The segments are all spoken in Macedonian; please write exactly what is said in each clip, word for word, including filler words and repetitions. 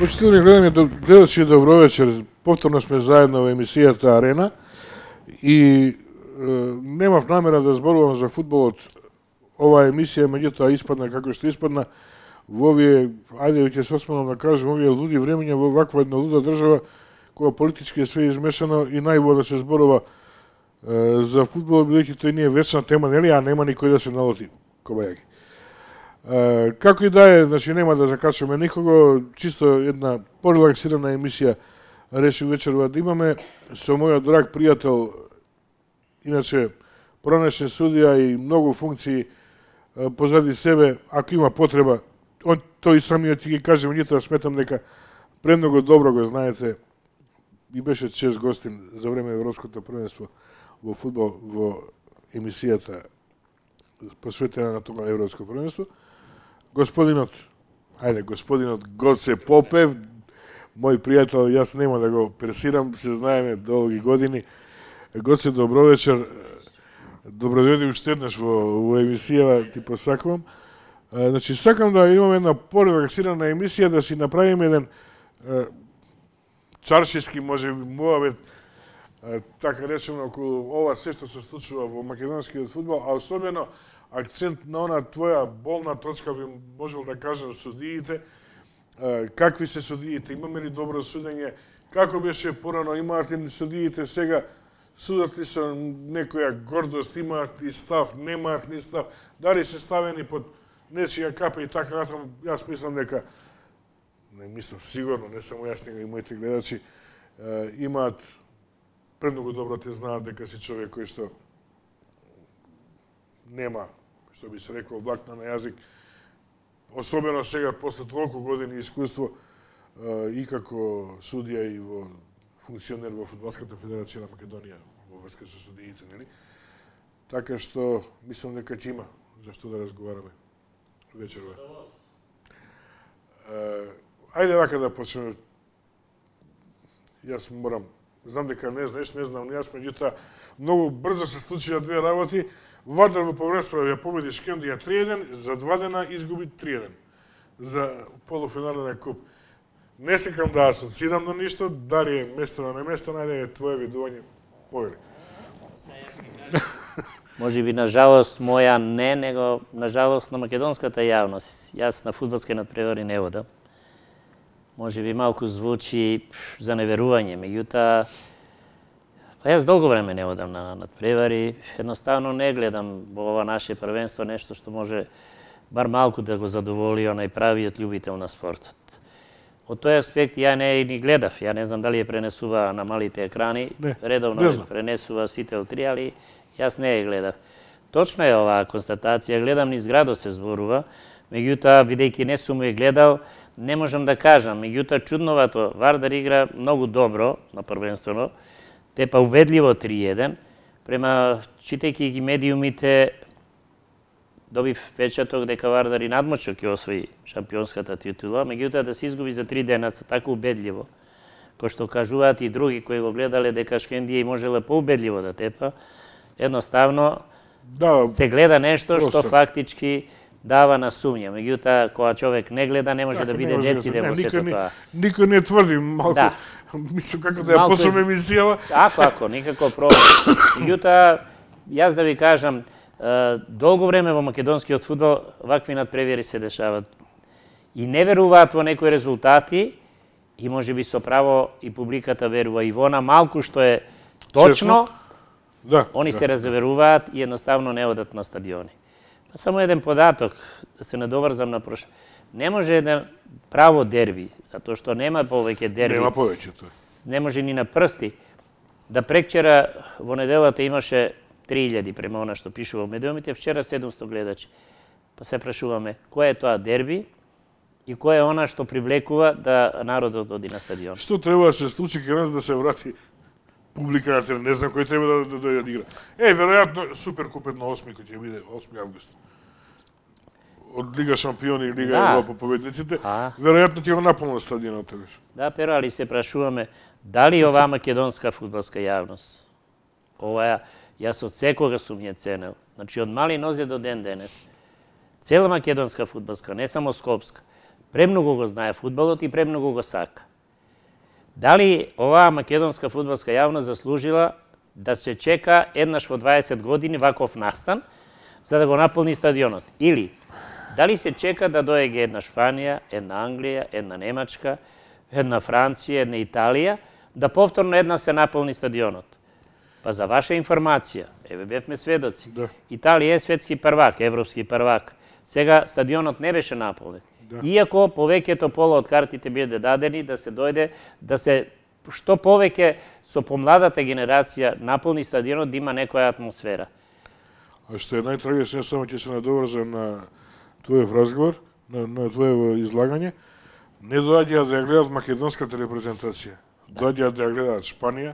Почитувани гледани гледачи, добро вечер. Повторно сме заедно во емисијата Арена и е, немав намера да зборувам за фудбалот. Оваа емисија меѓутоа испадна како што испадна во овие, ајде ќе се осмелам да кажам, овие луди времења во ваква една луда држава која политички е све измешано и најубаво да се зборува е, за фудбал, бидејќи тој не е вечна тема, нели, а нема никој да се налоти кобајаги. Uh, како и да е, значи нема да закачаме никого, чисто една порелаксирана емисија реши вечерва да имаме со мојот драг пријател, иначе пронешен судија и многу функции uh, позади себе, ако има потреба, он тој самиот ќе ги каже, меѓутоа сметам дека премногу добро го знаете и беше чест гостин за време Европското првенство во фудбал во емисијата посветена на тоа Европско првенство. Господинот, ајде, господинот Гоце Попев, мој пријател, јас нема да го персирам, се знаеме долги години. Гоце, добро вечер. Добро дојди уште еднаш во, во емисија, ти посакувам. Значи, сакам да имаме една порелаксирана емисија, да си направиме еден е, чаршиски, може би, муавет, е, така речено, околу ова се што се случува во македонскиот фудбал, а особено акцент на она твоја болна точка, би можел да кажам, судиите. Какви се судиите? Имаме ли добро судење? Како беше порано? Имаат ли судиите сега? Судат ли со некоја гордост? Имаат ли став? Немаат ли став? Дали се ставени под нечија капа и така натаму? Јас мислам дека, не мислам, сигурно, не само јас, него и моите гледачи, имаат премногу добро те знаат дека си човек кој што нема, што би се рекло, влакна на јазик, особено сега, после толку години искуство, и како судија и во функционер во Фудбалската федерација на Македонија, во врска со судиите, нели? Така што, мислам дека ќе има за што да разговараме вечерва. Ајде вака да почнеме. Јас морам, знам дека не знаеш, не знам, јас, меѓутоа, многу брзо се случија две работи. Вардар во повренство ја победи Шкендија три еден, за два дена изгуби три еден за полуфинален куп. Не секам да асоцирам на ништо, дали е местено на место, најде е твое видување, повели. Може би, на жалост, моја не, него на жалост на македонската јавност. Јас на фудбалски надпревари не водам. Може би малку звучи за неверување, меѓутоа, па јас долго време не одам на надпревари, едноставно не гледам во ова наше првенство нешто што може бар малку да го задоволи онај правиот љубител на спортот. Од тој аспект ја не ни гледав, ја не знам дали ја пренесува на малите екрани, не, редовно не ја пренесува Сител три, али јас не ја гледав. Точно е оваа констатација, гледам низ градот се зборува, меѓутоа, бидејќи не сум ја гледал, не можам да кажам, меѓутоа чудновато, Вардар игра многу добро на првенствено, тепа убедливо три еден, према читајќи ги медиумите, добив впечаток дека Вардар и надмочно ќе освои шампионската титула, меѓутоа да се изгуби за три денаца така убедливо, кој што кажуваат и други кои го гледале дека Шкендија и можела поубедливо да тепа, едноставно да, се гледа нешто просто што фактички дава на сумња. Меѓутоа, кога човек не гледа, не може така, да биде дециден во сето тоа. Никој не тврди, малку, да. Мислам како да ја почнеме емисијава. Ако, ако, никако проблем. Меѓутоа, јас да ви кажам, долго време во македонскиот фудбал вакви надпревари се дешаваат. И не веруваат во некои резултати, и може би со право и публиката верува и во она малку што е точно, да, они да. се разверуваат и едноставно не одат на стадиони. Па само еден податок, да се надоврзам на прошло. Не може еден право дерби, затоа што нема повеќе дерби. Нема повеќе тоа. Не може ни на прсти. Да прекчера во неделата имаше три илјади према она што пишува во медиумите, вчера седумсто гледачи. Па се прашуваме, кој е тоа дерби и кој е она што привлекува да народот оди на стадион. Што треба да се случи кај нас да се врати публика на терен? Не знам кој треба да да дојде да игра. Е, веројатно Суперкуп на осми кој ќе биде осми август. Од Лига шампиони и Лига да. Европа победниците, а? веројатно ќе го наполнат стадионот тогаш. Да, pero али се прашуваме дали оваа македонска фудбалска јавност, ова јас од секога сум ја ценел, значи од мали нозе до ден денес, цела македонска фудбалска, не само скопска, Премногу го знае фудбалот и премногу го сака. Дали оваа македонска фудбалска јавност заслужила да се чека еднаш во дваесет години ваков настан за да го наполни стадионот? Или дали се чека да доеѓе една Шпанија, една Англија, една Немачка, една Франција, една Италија, да повторно една се наполни стадионот? Па за ваша информација, еве бевме сведоци, Да. Италија е светски првак, европски првак. Сега стадионот не беше наполнет. Да. Иако повеќето пола од картите биде дадени да се дојде, да се што повеќе со помладата генерација наполни стадионот, да има некоја атмосфера. А што е најтрагично, само ќе се надоврзам на твојов разговор, на, на твоево излагање, не доаѓаат да ја гледат македонската репрезентација. Доаѓаат да ја гледат Шпанија,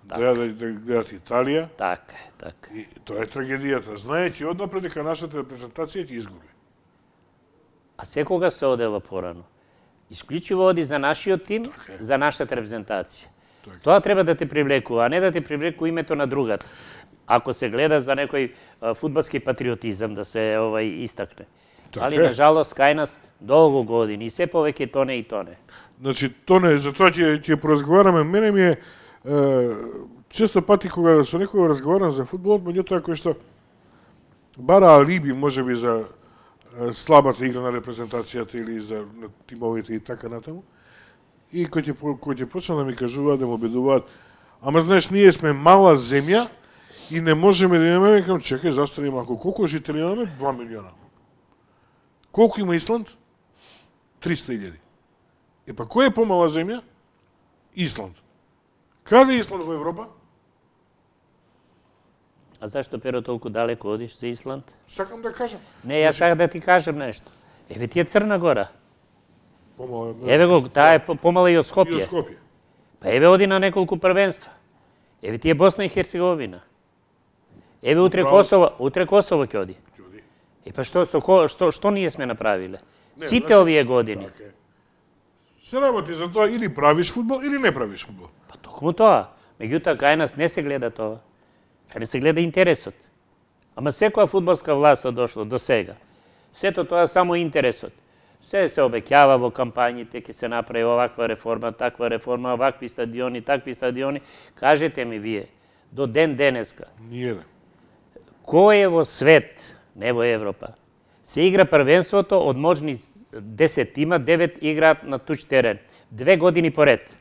доаѓаат да ја гледат Италија. Така е, така. И тоа е трагедијата. Знаејќи однапред дека нашата репрезентација ќе изгуби. А секога се одела порано. Исклучиво оди за нашиот тим, Така е. за нашата репрезентација. Така. Тоа треба да те привлекува, а не да те привлекува името на другата. Ако се гледа за некој а, фудбалски патриотизам да се овај истакне. Така Али е. на жалост кај нас долго години и се повеќе тоне и тоне. Значи, то не, за тоа ќе ќе поразговараме. Мене ми е, е често пати кога со некој разговарам за фудбалот, меѓутоа кој што бара алиби можеби за е, слабата игра на репрезентацијата или за на тимовите и така натаму. И кој ќе по- кој ќе почна да ми кажуваат, да му обидуваат, ама знаеш, ние сме мала земја и не можеме да имаме, викам, чекај, застани малку, колку жители имаме? два милиона. Колку има Исланд? триста илјади. Е па кој е помала земја? Исланд. Каде е Исланд во Европа? А зашто, Перо, толку далеко одиш за Исланд? Сакам да кажам. Не, јас сакам да ти кажам нешто. Еве ти е Црна Гора. Помала. Еве го, таа е по- помала и од И од Скопје. Скопје. Па еве оди на неколку првенства. Еве ти е Босна и Херцеговина. Еве утре Управо си. Косово, утре Косово ќе оди. Ѓуди. И па што со ко- што што ние сме направиле? Не, Сите значи, овие години. Така е. Се работи за тоа или правиш фудбал или не правиш фудбал. Па токму тоа. Меѓутоа кај нас не се гледа тоа. Кај не се гледа интересот. Ама секоја фудбалска власт дошло до сега. Сето тоа само интересот. Се се обеќава во кампањите, ќе се направи оваква реформа, таква реформа, овакви стадиони, такви стадиони. Кажете ми вие, до ден денеска, Ниједен. кој е во свет, не во Европа, се игра првенството од можни десет тима, девет играат на туч терен. Две години поред.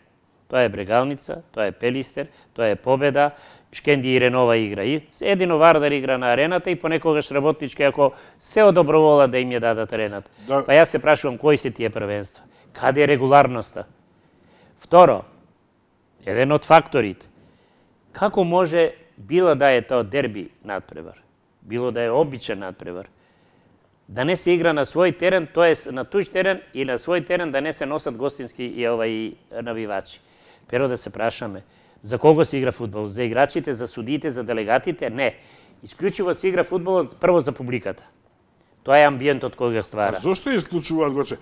Тоа е Брегалница, тоа е Пелистер, тоа е Победа, Шкенди и Ренова игра. И едино Вардар игра на арената и понекогаш работнички, ако се одобровола да им ја дадат арената. Да. Па јас се прашувам кои се тие првенства? Каде е регуларноста? Второ, еден од факторите, како може било да е тоа дерби надпревар, било да е обичен надпревар, да не се игра на свој терен, тоа на туј терен и на свој терен да не се носат гостински и овај навивачи. Перо да се прашаме, за кого се игра фудбал? За играчите, за судиите, за делегатите? Не. Исклучиво се игра фудбалот прво за публиката. Тоа е амбиентот кој го А ствара. зошто исклучуваат Гоце?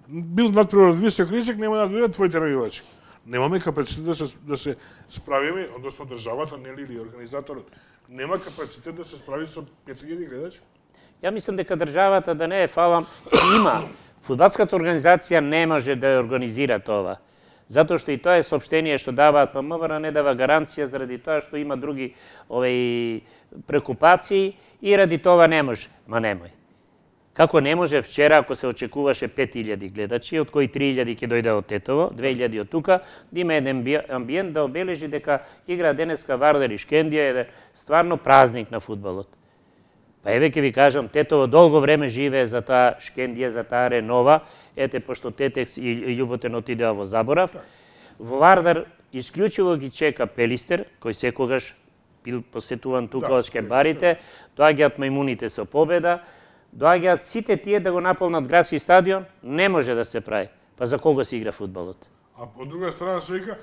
Бил надпревар од висок ризик, нема да дојдат твоите навивачи. Немаме капацитет да се да се справиме, односно државата, нели, или организаторот, нема капацитет да се справи со пет илјади гледачи. Ја мислам дека државата да не е фалам, има. Фудбалската организација не може да ја организира тоа. Затоа што и тоа е соопштение што даваат, па МВР не дава гаранција заради тоа што има други овој прекупации и ради тоа не може. Ма немој. Како не може вчера, ако се очекуваше пет илјади гледачи, од кои три илјади ќе дојде од Тетово, две илјади од тука, да има еден амбиент да обележи дека игра денеска Вардар и Шкендија е стварно празник на фудбалот. Па еве ќе ви кажам, Тетово долго време живее за таа Шкендија, за таа Ренова, ете, пошто Тетекс и Љуботен отидеа во заборав. Во Вардар исклучиво ги чека Пелистер, кој секогаш бил посетуван тука Да, од шкембарите, доаѓаат мајмуните со Победа, доаѓаат сите тие да го наполнат градски стадион, не може да се прави. Па за кого се игра фудбалот? А од друга страна се вика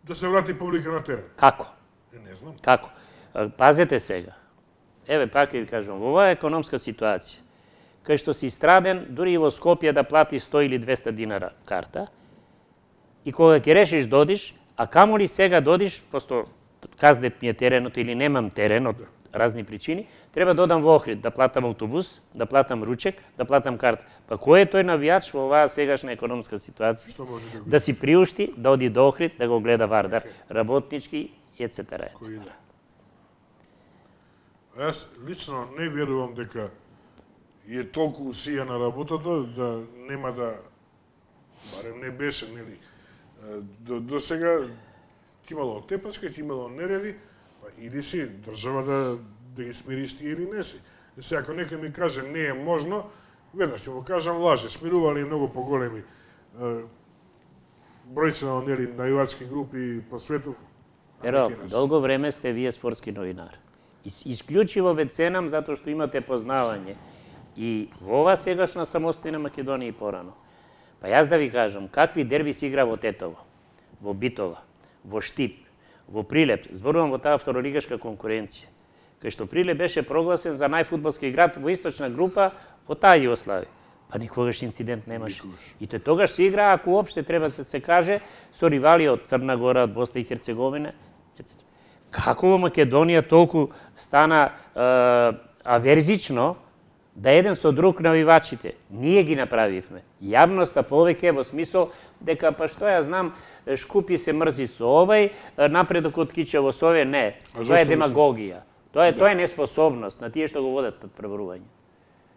да се врати публика на терен. Како? Е, не знам. Како? А, пазете сега. Еве, пак ќе ви кажам, во оваа економска ситуација, кај што си страден, дури и во Скопје да плати сто или двесте динара карта, и кога ќе решиш додиш, а камо ли сега додиш, просто казнет ми е теренот или немам терен од разни причини, треба да одам во Охрид, да платам автобус, да платам ручек, да платам карта. Па кој е тој навијач во оваа сегашна економска ситуација? Што може да го... Да си приушти, да оди до Охрид, да го гледа Вардар, работнички, ецетера. Кој да? Јас лично не верувам дека е толку усијана работата да нема да, барем не беше, нели, до, до сега ќе имало тепачка, ќе имало нереди, па иди си држава да, да ги смириш ти или не си. И сега, ако некој ми каже не е можно, веднаш ќе му кажам лаже, смирували многу поголеми бројчина, нели, најувачки групи по светов. Еро, долго време сте вие спортски новинар. Исклучиво ве ценам затоа што имате познавање и во ова сегашна самостојна Македонија и порано. Па јас да ви кажам, какви дерби се игра во Тетово, во Битола, во Штип, во Прилеп, зборувам во таа второлигашка конкуренција, кај што Прилеп беше прогласен за најфудбалски град во источна група во таа Југославија. Па никогаш инцидент немаше. И тој тогаш се игра, ако уопште треба да се каже, со ривали од Црна Гора, од Босна и Херцеговина, ецетера. Како во Македонија толку стана е, аверзично да еден со друг навивачите? Ние ги направивме. Јавноста повеќе во смисол дека, па што ја знам, Шкупи се мрзи со овај, напредок од Кичево со овај, не. Тоа е демагогија. Тоа е, да. Тоа е неспособност на тие што го водат преборување.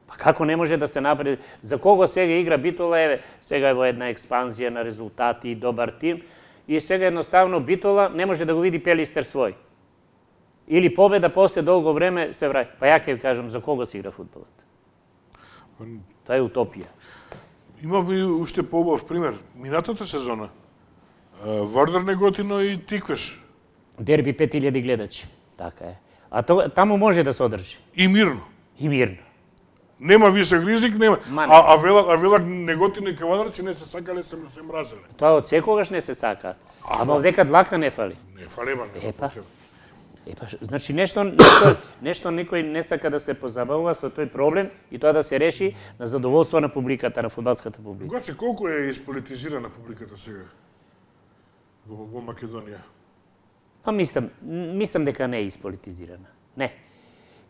Па како не може да се напред... За кого сега игра Битола, еве, сега е во една експанзија на резултати и добар тим, и сега едноставно Битола не може да го види Пелистер свој. Или победа после долго време се враќа. Па ја ќе кажам за кого се игра фудбалот. Тоа е утопија. Имаме и уште поубав пример. Минатата сезона Вардар Неготино и Тиквеш. Дерби пет илјади гледачи. Така е. А то, таму може да се одржи. И мирно. И мирно. Нема висок ризик, нема. Ма, не. А, а велак, а велак Неготино и Кавадарци не се сакале, се, се мразеле. Тоа од секогаш не се сака. Ама овдека длака не фали. Не фали, ма не. Епа. Епа, значи нешто, нешто, нешто никој не сака да се позабавува со тој проблем и тоа да се реши на задоволство на публиката, на фудбалската публика. Гоце, колку е исполитизирана публиката сега во, во Македонија? Па мислам, мислам дека не е исполитизирана. Не.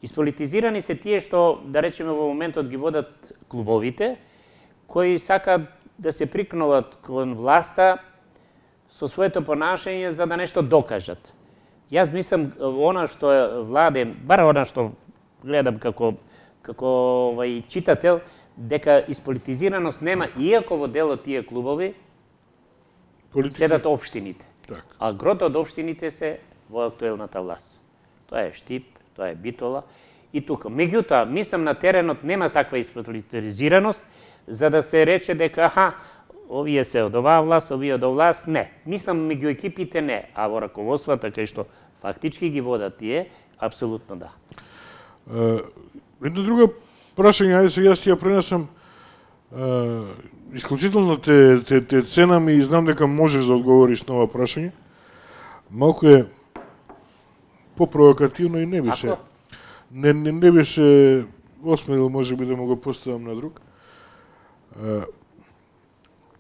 Исполитизирани се тие што, да речеме, во моментот ги водат клубовите, кои сакаат да се прикнуват кон власта со своето понашање за да нешто докажат. Јас мислам, она што е владе, бар она што гледам како, како овај читател, дека исполитизираност нема, иако во дел од тие клубови Политика... седат општините. Так. А грото од општините се во актуелната власт. Тоа е Штип, тоа е Битола и тука. Меѓутоа, мислам на теренот нема таква исполитизираност за да се рече дека аха, овие се од оваа власт, овие од оваа власт, не. Мислам меѓу екипите не, а во раководствата кај што фактички ги водат тие, апсолутно да. Uh, едно друго прашање, ајде сега јас ти ја пренесам, uh, исклучително те, те, те ценам и знам дека можеш да одговориш на ова прашање. Малку е попровокативно и не би се... Не, не, не би се осмелил, може би, да му го поставам на друг. Uh,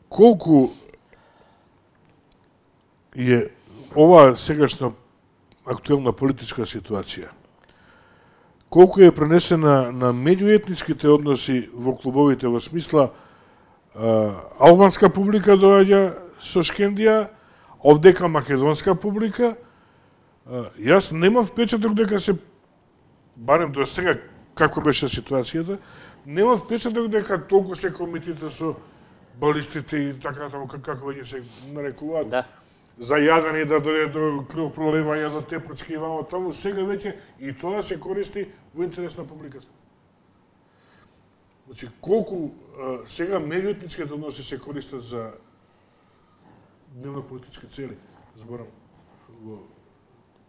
колку е оваа сегашна актуелна политичка ситуација, колку е пренесена на меѓуетничките односи во клубовите, во смисла а, албанска публика доаѓа со Шкендија, овдека македонска публика, а, јас немав впечаток дека се, барем до сега како беше ситуацијата, немав впечаток дека толку се комитите со балистите и така таму како веќе се нарекуваат. Да. Зајадени да дојде до крв пролевање до тепачки и вамо таму, сега веќе и тоа се користи во интерес на публиката. Значи, колку а, сега меѓуетничките односи се користат за дневно-политички цели, зборам во...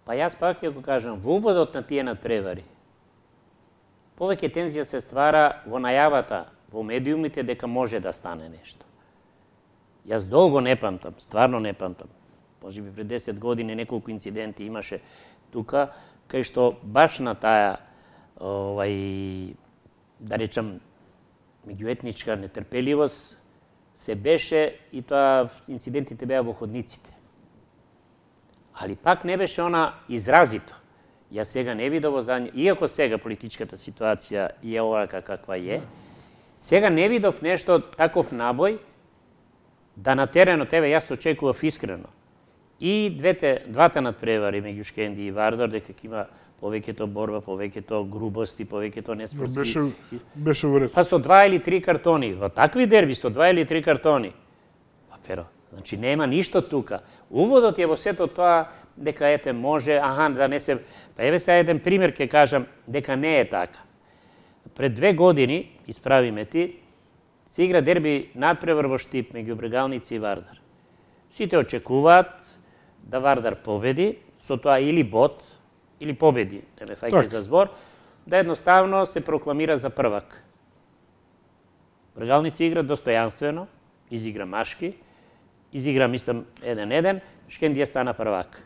Па јас пак ќе го кажам, во уводот на тие надпревари, повеќе тензија се ствара во најавата, во медиумите, дека може да стане нешто. Јас долго не памтам, стварно не памтам. Може би пред десет години неколку инциденти имаше тука, кај што баш на таа, овај, да речам, меѓуетничка нетрпеливост се беше, и тоа инцидентите беа во ходниците. Али пак не беше она изразито. Јас сега не видов за нј, иако сега политичката ситуација е овака каква е, сега не видов нешто таков набој да на терено тебе јас очекував искрено. И двете, двата надпревари меѓу Шкенди и Вардар, дека има повеќето борба, повеќето грубости, повеќето неспортски. Беше, беше вред. Па со два или три картони, во такви дерби со два или три картони. Па перо, значи нема ништо тука. Уводот е во сето тоа дека ете може, аха, да не се... Па еве сега еден пример ќе кажам дека не е така. Пред две години, исправи ме ти, се игра дерби надпревар во Штип меѓу Брегалници и Вардар. Сите очекуваат да Вардар победи, со тоа или бот, или победи, не ме фаќај за збор, да едноставно се прокламира за првак. Брегалници игра достојанствено, изигра машки, изигра, мислам, еден-еден, Шкендија стана првак.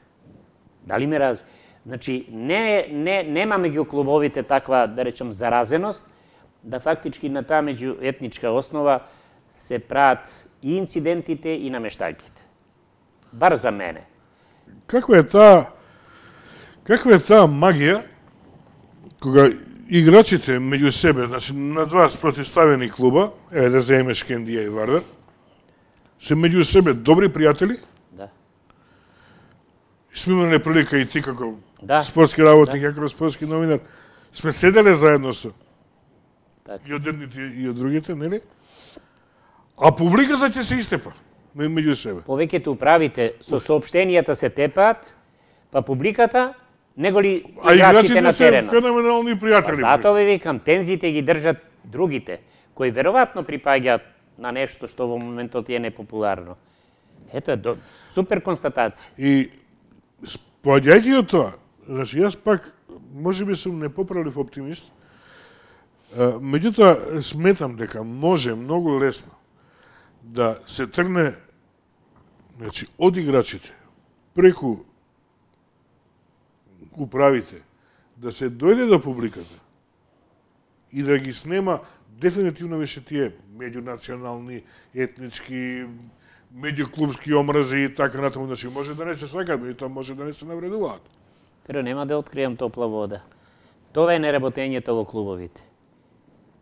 Дали ме раз... Значи, не, не, нема меѓу клубовите таква, да речем, заразеност, да фактички на таа меѓуетничка основа се прават и инцидентите и намештајките. Бар за мене. Каква е таа каква е таа магија кога играчите меѓу себе, значи на два спротивставени клуба, еве да земеме Шкендија и Вардар, се меѓу себе добри пријатели? Да. Сме имале прилика и ти како да. спортски работник, да. како спортски новинар, сме седеле заедно со так. И од едните и од другите, нели? А публиката ќе се истепа меѓу себе. Повеќето управите со соопштенијата се тепаат, па публиката него ли играчите на терена. А играчите се феноменални пријатели. Па затоа ви викам, тензите ги држат другите, кои веројатно припаѓаат на нешто што во моментот е непопуларно. Ето е до... супер констатација. И споаѓајќи од тоа, значи јас пак можеби сум непоправлив оптимист, меѓутоа сметам дека може многу лесно да се тргне, значи, од играчите преку управите, да се дојде до публиката и да ги снема дефинитивно више тие меѓунационални, етнички, меѓуклубски омрази и така натаму, значи може да не се сакат, меѓутоа може да не се навредуваат. Pero нема да откријам топла вода. Тоа е неработењето во клубовите.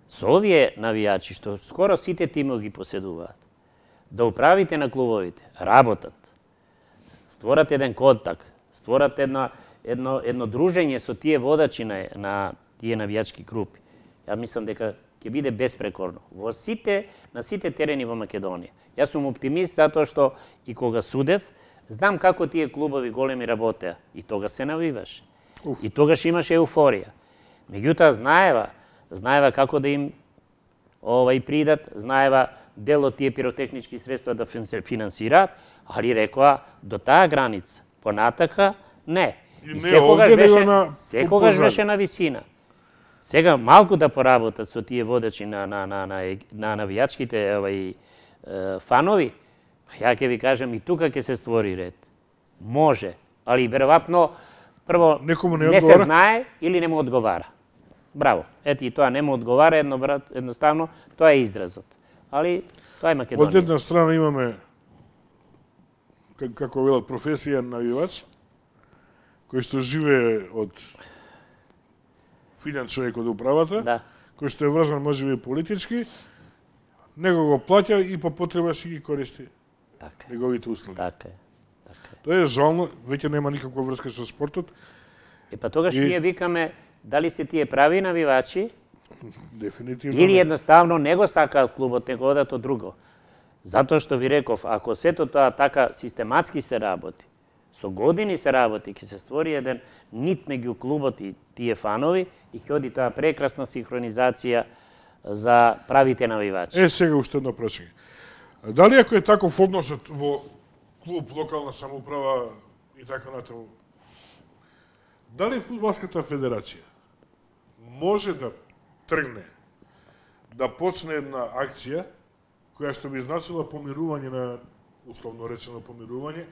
Со овие навијачи, што скоро сите тимови ги поседуваат, да управите на клубовите, работат, створат еден контакт, створат едно, едно, едно дружење со тие водачи на, на тие навијачки групи. Ја мислам дека ќе биде беспрекорно. Во сите, на сите терени во Македонија. Јас сум оптимист затоа што и кога судев, знам како тие клубови големи работеа. И тога се навиваше. Уф. И тогаш имаше еуфорија. Меѓутоа знаева, знаева како да им ова и придат, знаева дел од тие пиротехнички средства да финансираат, али рекоа до таа граница. Понатака не. И, и не секогаш беше на секогаш беше на висина. Сега малку да поработат со тие водачи на на на на, на навијачките овај фанови, ја ќе ви кажам и тука ќе се створи ред. Може, али веројатно прво не, не се знае или не му одговара. Браво. Ето и тоа не му одговара, едно, едноставно тоа е изразот. Али тоа е Македонија. Од една страна имаме како велат професија навивач, кој што живее од финен човек од управата, да. кој што е врзан можеби политички, него го плаќа и по потреба си ги користи така. неговите услуги. Така е. Така е. Тоа е жално, веќе нема никаква врска со спортот. Е па тогаш и... ние викаме дали се тие прави навивачи, дефинитивно или едноставно не го сакаат клубот, него одат од друго. Затоа што ви реков, ако сето тоа така систематски се работи, со години се работи, ќе се створи еден нит меѓу клубот и тие фанови и ќе оди тоа прекрасна синхронизација за правите навивачи. Е, сега уште едно прашање. Дали ако е таков односот во клуб, локална самоуправа и така натаму, дали фудбалската федерација може да тргне, да почне една акција која што би значила помирување на, условно речено помирување,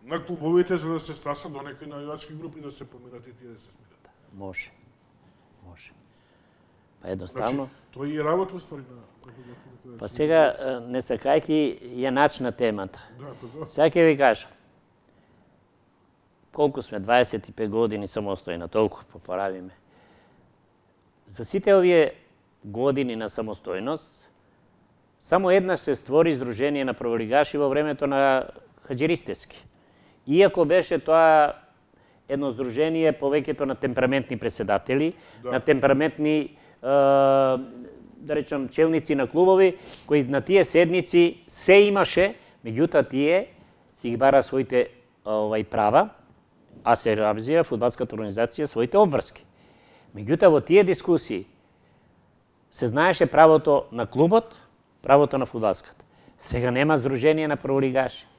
на клубовите за да се стасат до некои навивачки групи да се помират и тие да се смират? Може. Може. Па едноставно... Значи, тоа и е работа уствари на... Па сега, не сакајќи ја начна темата. Да, па да. Сега ќе ви кажам. колку сме, дваесет и пет години самостојна, толку поправиме. За сите овие години на самостојност, само еднаш се створи Сдружение на прволигаши во времето на Хаџиристевски. Иако беше тоа едно здружение повеќето на темпераментни преседатели, да. на темпераментни, е, да речам, челници на клубови, кои на тие седници се имаше, меѓутоа тие си ги бара своите овај права, а се реализира фудбалската организација своите обврски. Меѓутоа во тие дискусии се знаеше правото на клубот, правото на фудбалската. Сега нема Сдружение на прволигаши.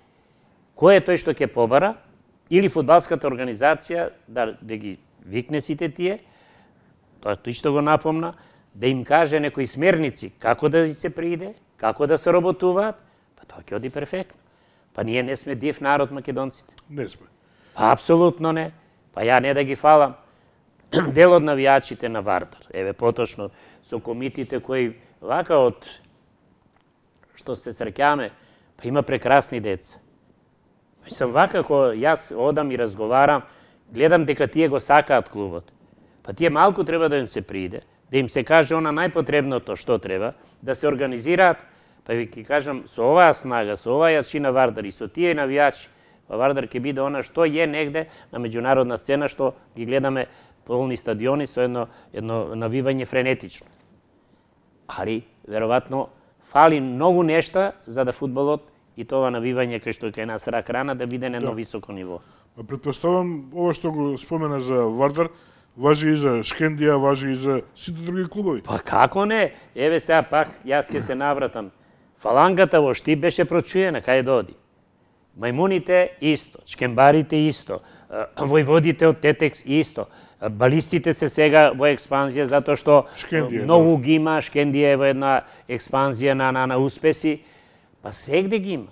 Кој е тој што ќе побара? Или фудбалската организација да, да ги викне сите тие, тоа тој што го напомна, да им каже некои смерници како да се прииде, како да се работуваат, па тоа ќе оди перфектно. Па ние не сме див народ македонците. Не сме. Па апсолутно не. Па ја не да ги фалам. Дел од навијачите на Вардар, еве поточно со комитите кои вака од што се среќаме, па има прекрасни деца. Мислам, вака, кога јас одам и разговарам, гледам дека тие го сакаат клубот. Па тие малку треба да им се прииде, да им се каже она најпотребното што треба, да се организираат, па ви ќе кажам, со оваа снага, со оваа јачина Вардар и со тие навијачи, па Вардар ќе биде она што е негде на меѓународна сцена, што ги гледаме полни стадиони со едно, едно навивање френетично. Али, веројатно, фали многу нешта за да фудбалот и тоа навивање кај што кај нас рак рана да биде на едно да. високо ниво. Предпоставам, ова што го спомена за Вардар, важи и за Шкендија, важи и за сите други клубови. Па како не? Еве сега пак, јас ќе се навратам. Фалангата во Штип беше прочуена, кај да оди. Мајмуните исто, чкембарите исто, војводите од Тетекс исто. Балистите се сега во експанзија затоа што Шкендија, многу да. ги има, Шкендија е во една експанзија на, на, на успеси. Па сегде ги има.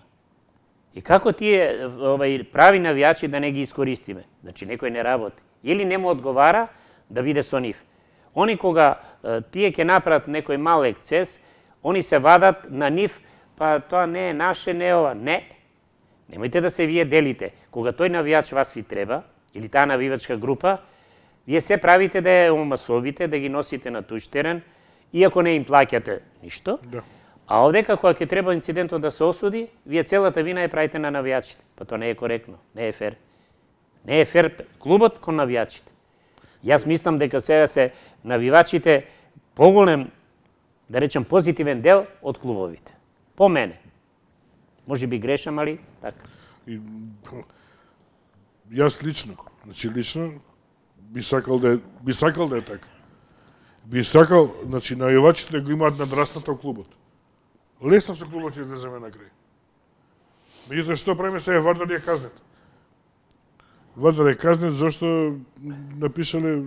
И како тие овај, прави навијачи да не ги искористиме? Значи, некој не работи. Или не му одговара да биде со нив. Они кога е, тие ќе направат некој мал ексцес, они се вадат на нив, па тоа не е наше, не е ова. Не. Немојте да се вие делите. Кога тој навијач вас ви треба, или таа навивачка група, вие се правите да ја омасовите, да ги носите на туѓ терен, иако не им плаќате ништо. Да. А овдека, кога ќе треба инцидентот да се осуди, вие целата вина ја правите на навијачите. Па тоа не е коректно, не е фер. Не е фер клубот кон навијачите. Јас мислам дека сега се навивачите поголем, да речем, позитивен дел од клубовите. По мене. Може би грешам, али така. И, јас лично, значи лично, би сакал да е, би сакал да е така. Би сакал, значи, навивачите го имаат надрасната во клубот. Лесно со клубот ќе излеземе на крај. Меѓутоа, што правиме сега? Вардар е казнет. Вардар е казнет зашто напишале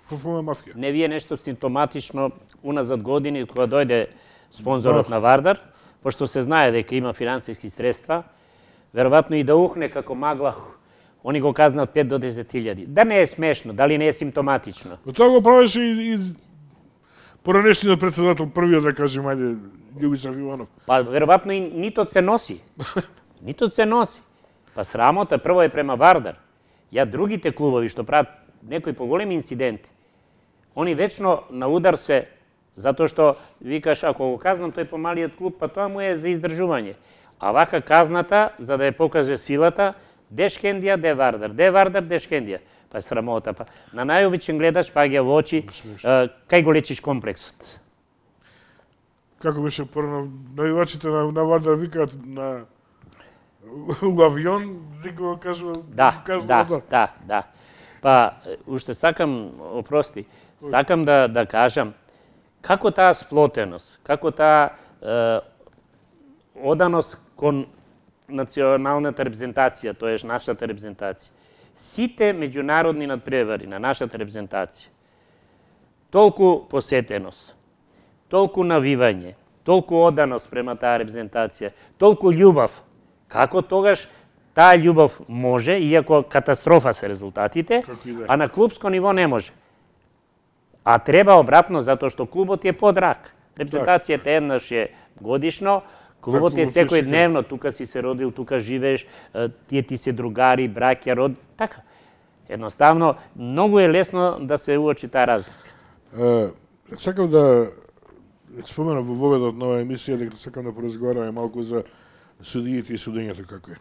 ФФМ мафија. Не вие нешто симптоматично уназад години, кога дојде спонзорот да. на Вардар, пошто се знае дека има финансиски средства, веројатно и да ухне како магла, они го казнат пет до десет илјади. Да не е смешно, дали не е симптоматично? Но тоа го правеше и, и поранешниот председател, првиот, да кажем, ајде, Љубисав Иванов. Па, веројатно и нитот се носи. Нитот се носи. Па срамота прво е према Вардар. Ја другите клубови што прават некои поголеми инциденти, они вечно на удар се, затоа што викаш, ако го казнам тој помалиот клуб, па тоа му е за издржување. А вака казната, за да ја покаже силата, де Шкендија, де Вардар, де Вардар, де Шкендија. Па е срамота. Па. На најобичен гледаш, паѓа во очи, кај го лечиш комплексот. Како беше прво, навивачите на, на Вардар викаат на у авион, зико го кажува, да, казва да, да, да. Па, уште сакам, опрости, сакам да, да кажам, како таа сплотеност, како таа е, оданост кон националната репрезентација, тоеш нашата репрезентација, сите меѓународни надпревари на нашата репрезентација, толку посетеност, толку навивање, толку оданост према таа репрезентација, толку љубов, како тогаш таа љубов може, иако катастрофа се резултатите, да. А на клубско ниво не може. А треба обратно, затоа што клубот е подрак. Репрезентацијата еднаш е годишно, клубот е секој дневно, тука си се родил, тука живееш, тие ти се другари, браќа, род, Така. Едноставно, многу е лесно да се уочи таа разлика. Е, сакам да споменам во воведот на оваа емисија, дека сакам да поразговараме малку за судиите и судењето како е.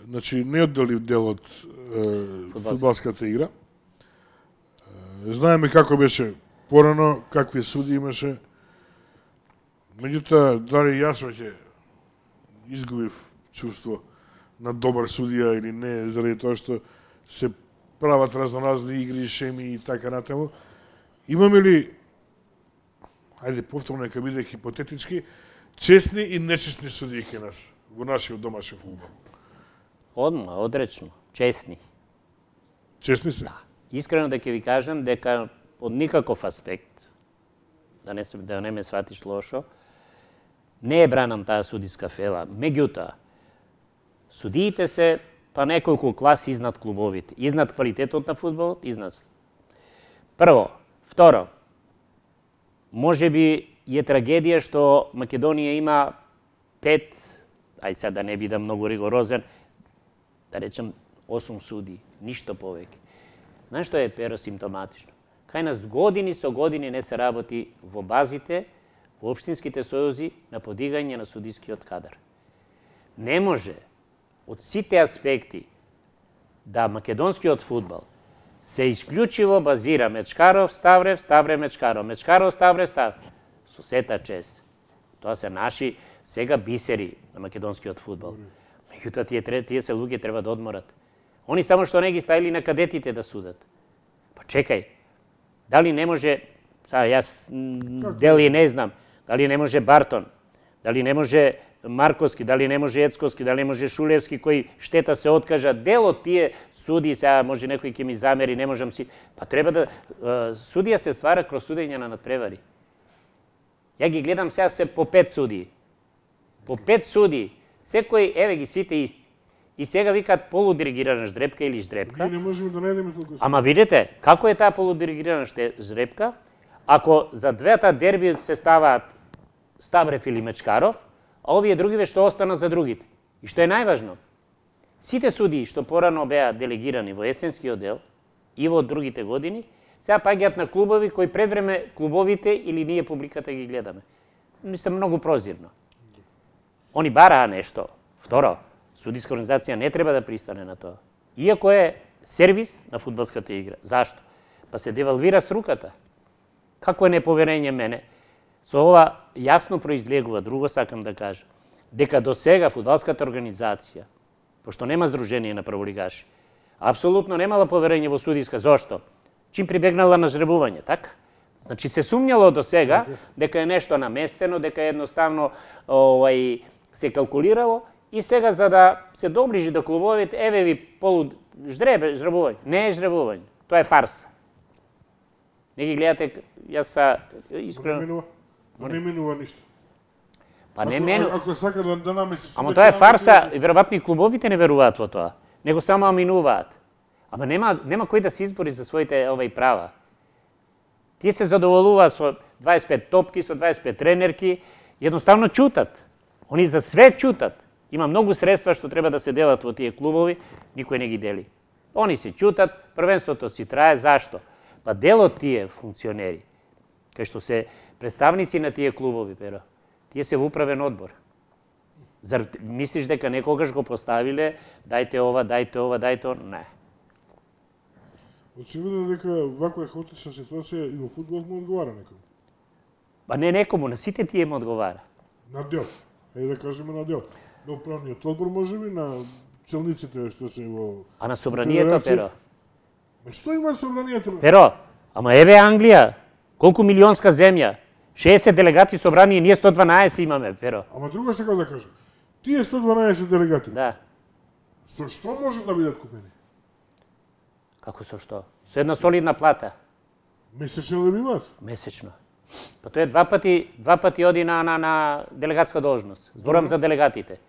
Значи, неодделив дел од фудбалската игра. Е, знаеме како беше порано, какви суди имаше. Меѓутоа, дали јас веќе изгубив чувство на добар судија или не, заради тоа што се прават разноразни игри, шеми и така натаму. Имаме ли, ајде повторно нека биде хипотетички, честни и нечестни судии кај нас во нашиот домашен фудбал? Одма, одречно, честни. Честни се? Да. Искрено да ќе ви кажам дека од никаков аспект, да не, да не ме сватиш лошо, не е бранам таа судиска фела. Меѓутоа, судиите се па неколку класи изнад клубовите, изнад квалитетот на фудбалот, изнад. Прво, второ, може би е трагедија што Македонија има пет, ај сега да не бидам многу ригорозен, да речем осум суди, ништо повеќе. Знаеш што е Pero симптоматично? Кај нас години со години не се работи во базите, во општинските сојузи на подигање на судискиот кадар. Не може од сите аспекти да македонскиот фудбал се исклучиво базира Мечкаров, Ставрев, Ставрев, Мечкаров, Мечкаров, Ставрев, Ставрев. Со сета чест. Тоа се наши сега бисери на македонскиот фудбал. Меѓутоа тие, тие се луѓе треба да одморат. Они само што не ги ставили на кадетите да судат. Па чекај, дали не може, сега јас дели не знам, дали не може Бартон, дали не може Марковски, дали не може Ецковски, дали не може Шулевски, кој штета се откажа, дел од тие суди, сега може некој ќе ми замери, не можам си, па треба да, судија се ствара кроз судење на надпревари. Ја ги гледам сега се по пет судии. По пет судии, секој, еве ги сите исти. И сега викаат полудиригирана ждрепка или ждрепка. Ние не можеме да најдеме толку. Ама видете, како е таа полудиригирана ждрепка, ако за двете дерби се ставаат Ставрев или Мечкаров, а овие другиве што остана за другите. И што е најважно, сите судии што порано беа делегирани во есенскиот дел и во другите години, сега паѓаат на клубови кои пред време клубовите или ние публиката ги гледаме. Мислам, многу прозирно. Они бараа нешто. Второ, судиска организација не треба да пристане на тоа. Иако е сервис на фудбалската игра. Зашто? Па се девалвира струката. Како е неповерење мене? Со ова јасно произлегува, друго сакам да кажам, дека до сега фудбалската организација, пошто нема здружение на праволигаши, апсолутно немала поверење во судиска. Зошто? Чим прибегнала на жребување, така? Значи се сумњало до сега дека е нешто наместено, дека едноставно овај се калкулирало и сега за да се доближи до клубовите, еве ви полу ждребе, жребување. Не е жребување, тоа е фарса. Не ги гледате, јас са искрено... Не менува ништо. Па не менува. Ако сака да, да намеси... Ама тоа е фарса, и веројатно и клубовите не веруваат во тоа. Него само аминуваат. Ама нема, нема кој да се избори за своите овај права. Тие се задоволуваат со дваесет и пет топки, со дваесет и пет тренерки, едноставно чутат. Они за све чутат. Има многу средства што треба да се делат во тие клубови, никој не ги дели. Они се чутат, првенството си трае, зашто? Па дел од тие функционери, кај што се представници на тие клубови, Pero, тие се во управен одбор. Зар мислиш дека некогаш го поставиле, дајте ова, дајте ова, дајте ова? Не. Очевидно дека ваква хаотична ситуација и во фудбалот му одговара некому. Па не некому, на сите тие му одговара. На дел. Ајде да кажеме на дел. На управниот одбор можеби, на челниците што се во... А на собранието, Pero? Ме што има собранието? Pero, ама еве Англија, колку милионска земја, шеесет делегати собрани и ние сто дванаесет имаме, Pero. Ама друго сакам да кажам. Тие сто дванаесет делегати, Да. со што може да бидат купени? Како со што? Со една солидна плата. Месечно да биваат? Месечно. Па тоа е два пати, два пати оди на, на, на делегатска должност. Зборам за делегатите.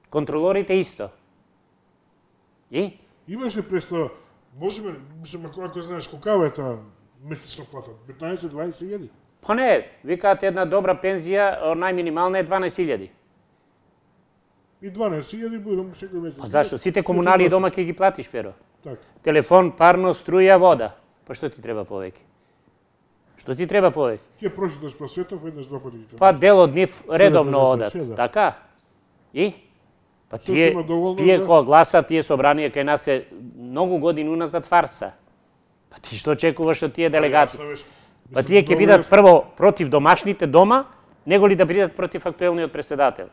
Контролорите исто. И? Имаш ли представа, можеме, мислам, ако, ако знаеш колкава е таа месечна плата, петнаесет до дваесет илјади? Па не, викаат една добра пензија, најминимална е дванаесет илјади. И дванаесет илјади будам секој месец. А зашто? Сите комунали дома ќе ги платиш, Перо. Така. Телефон, парно, струја, вода. Па што ти треба повеќе? Што ти треба повеќе? Ќе прочиташ по светов еднаш два пати. Па дел од нив редовно одат. Така? И? Па тие, тие која гласат, тие собранија кај нас е многу години уназад фарса. Па ти што очекуваш од тие делегати? Па тие ќе бидат прво против домашните дома, него ли да бидат против актуелниот преседател?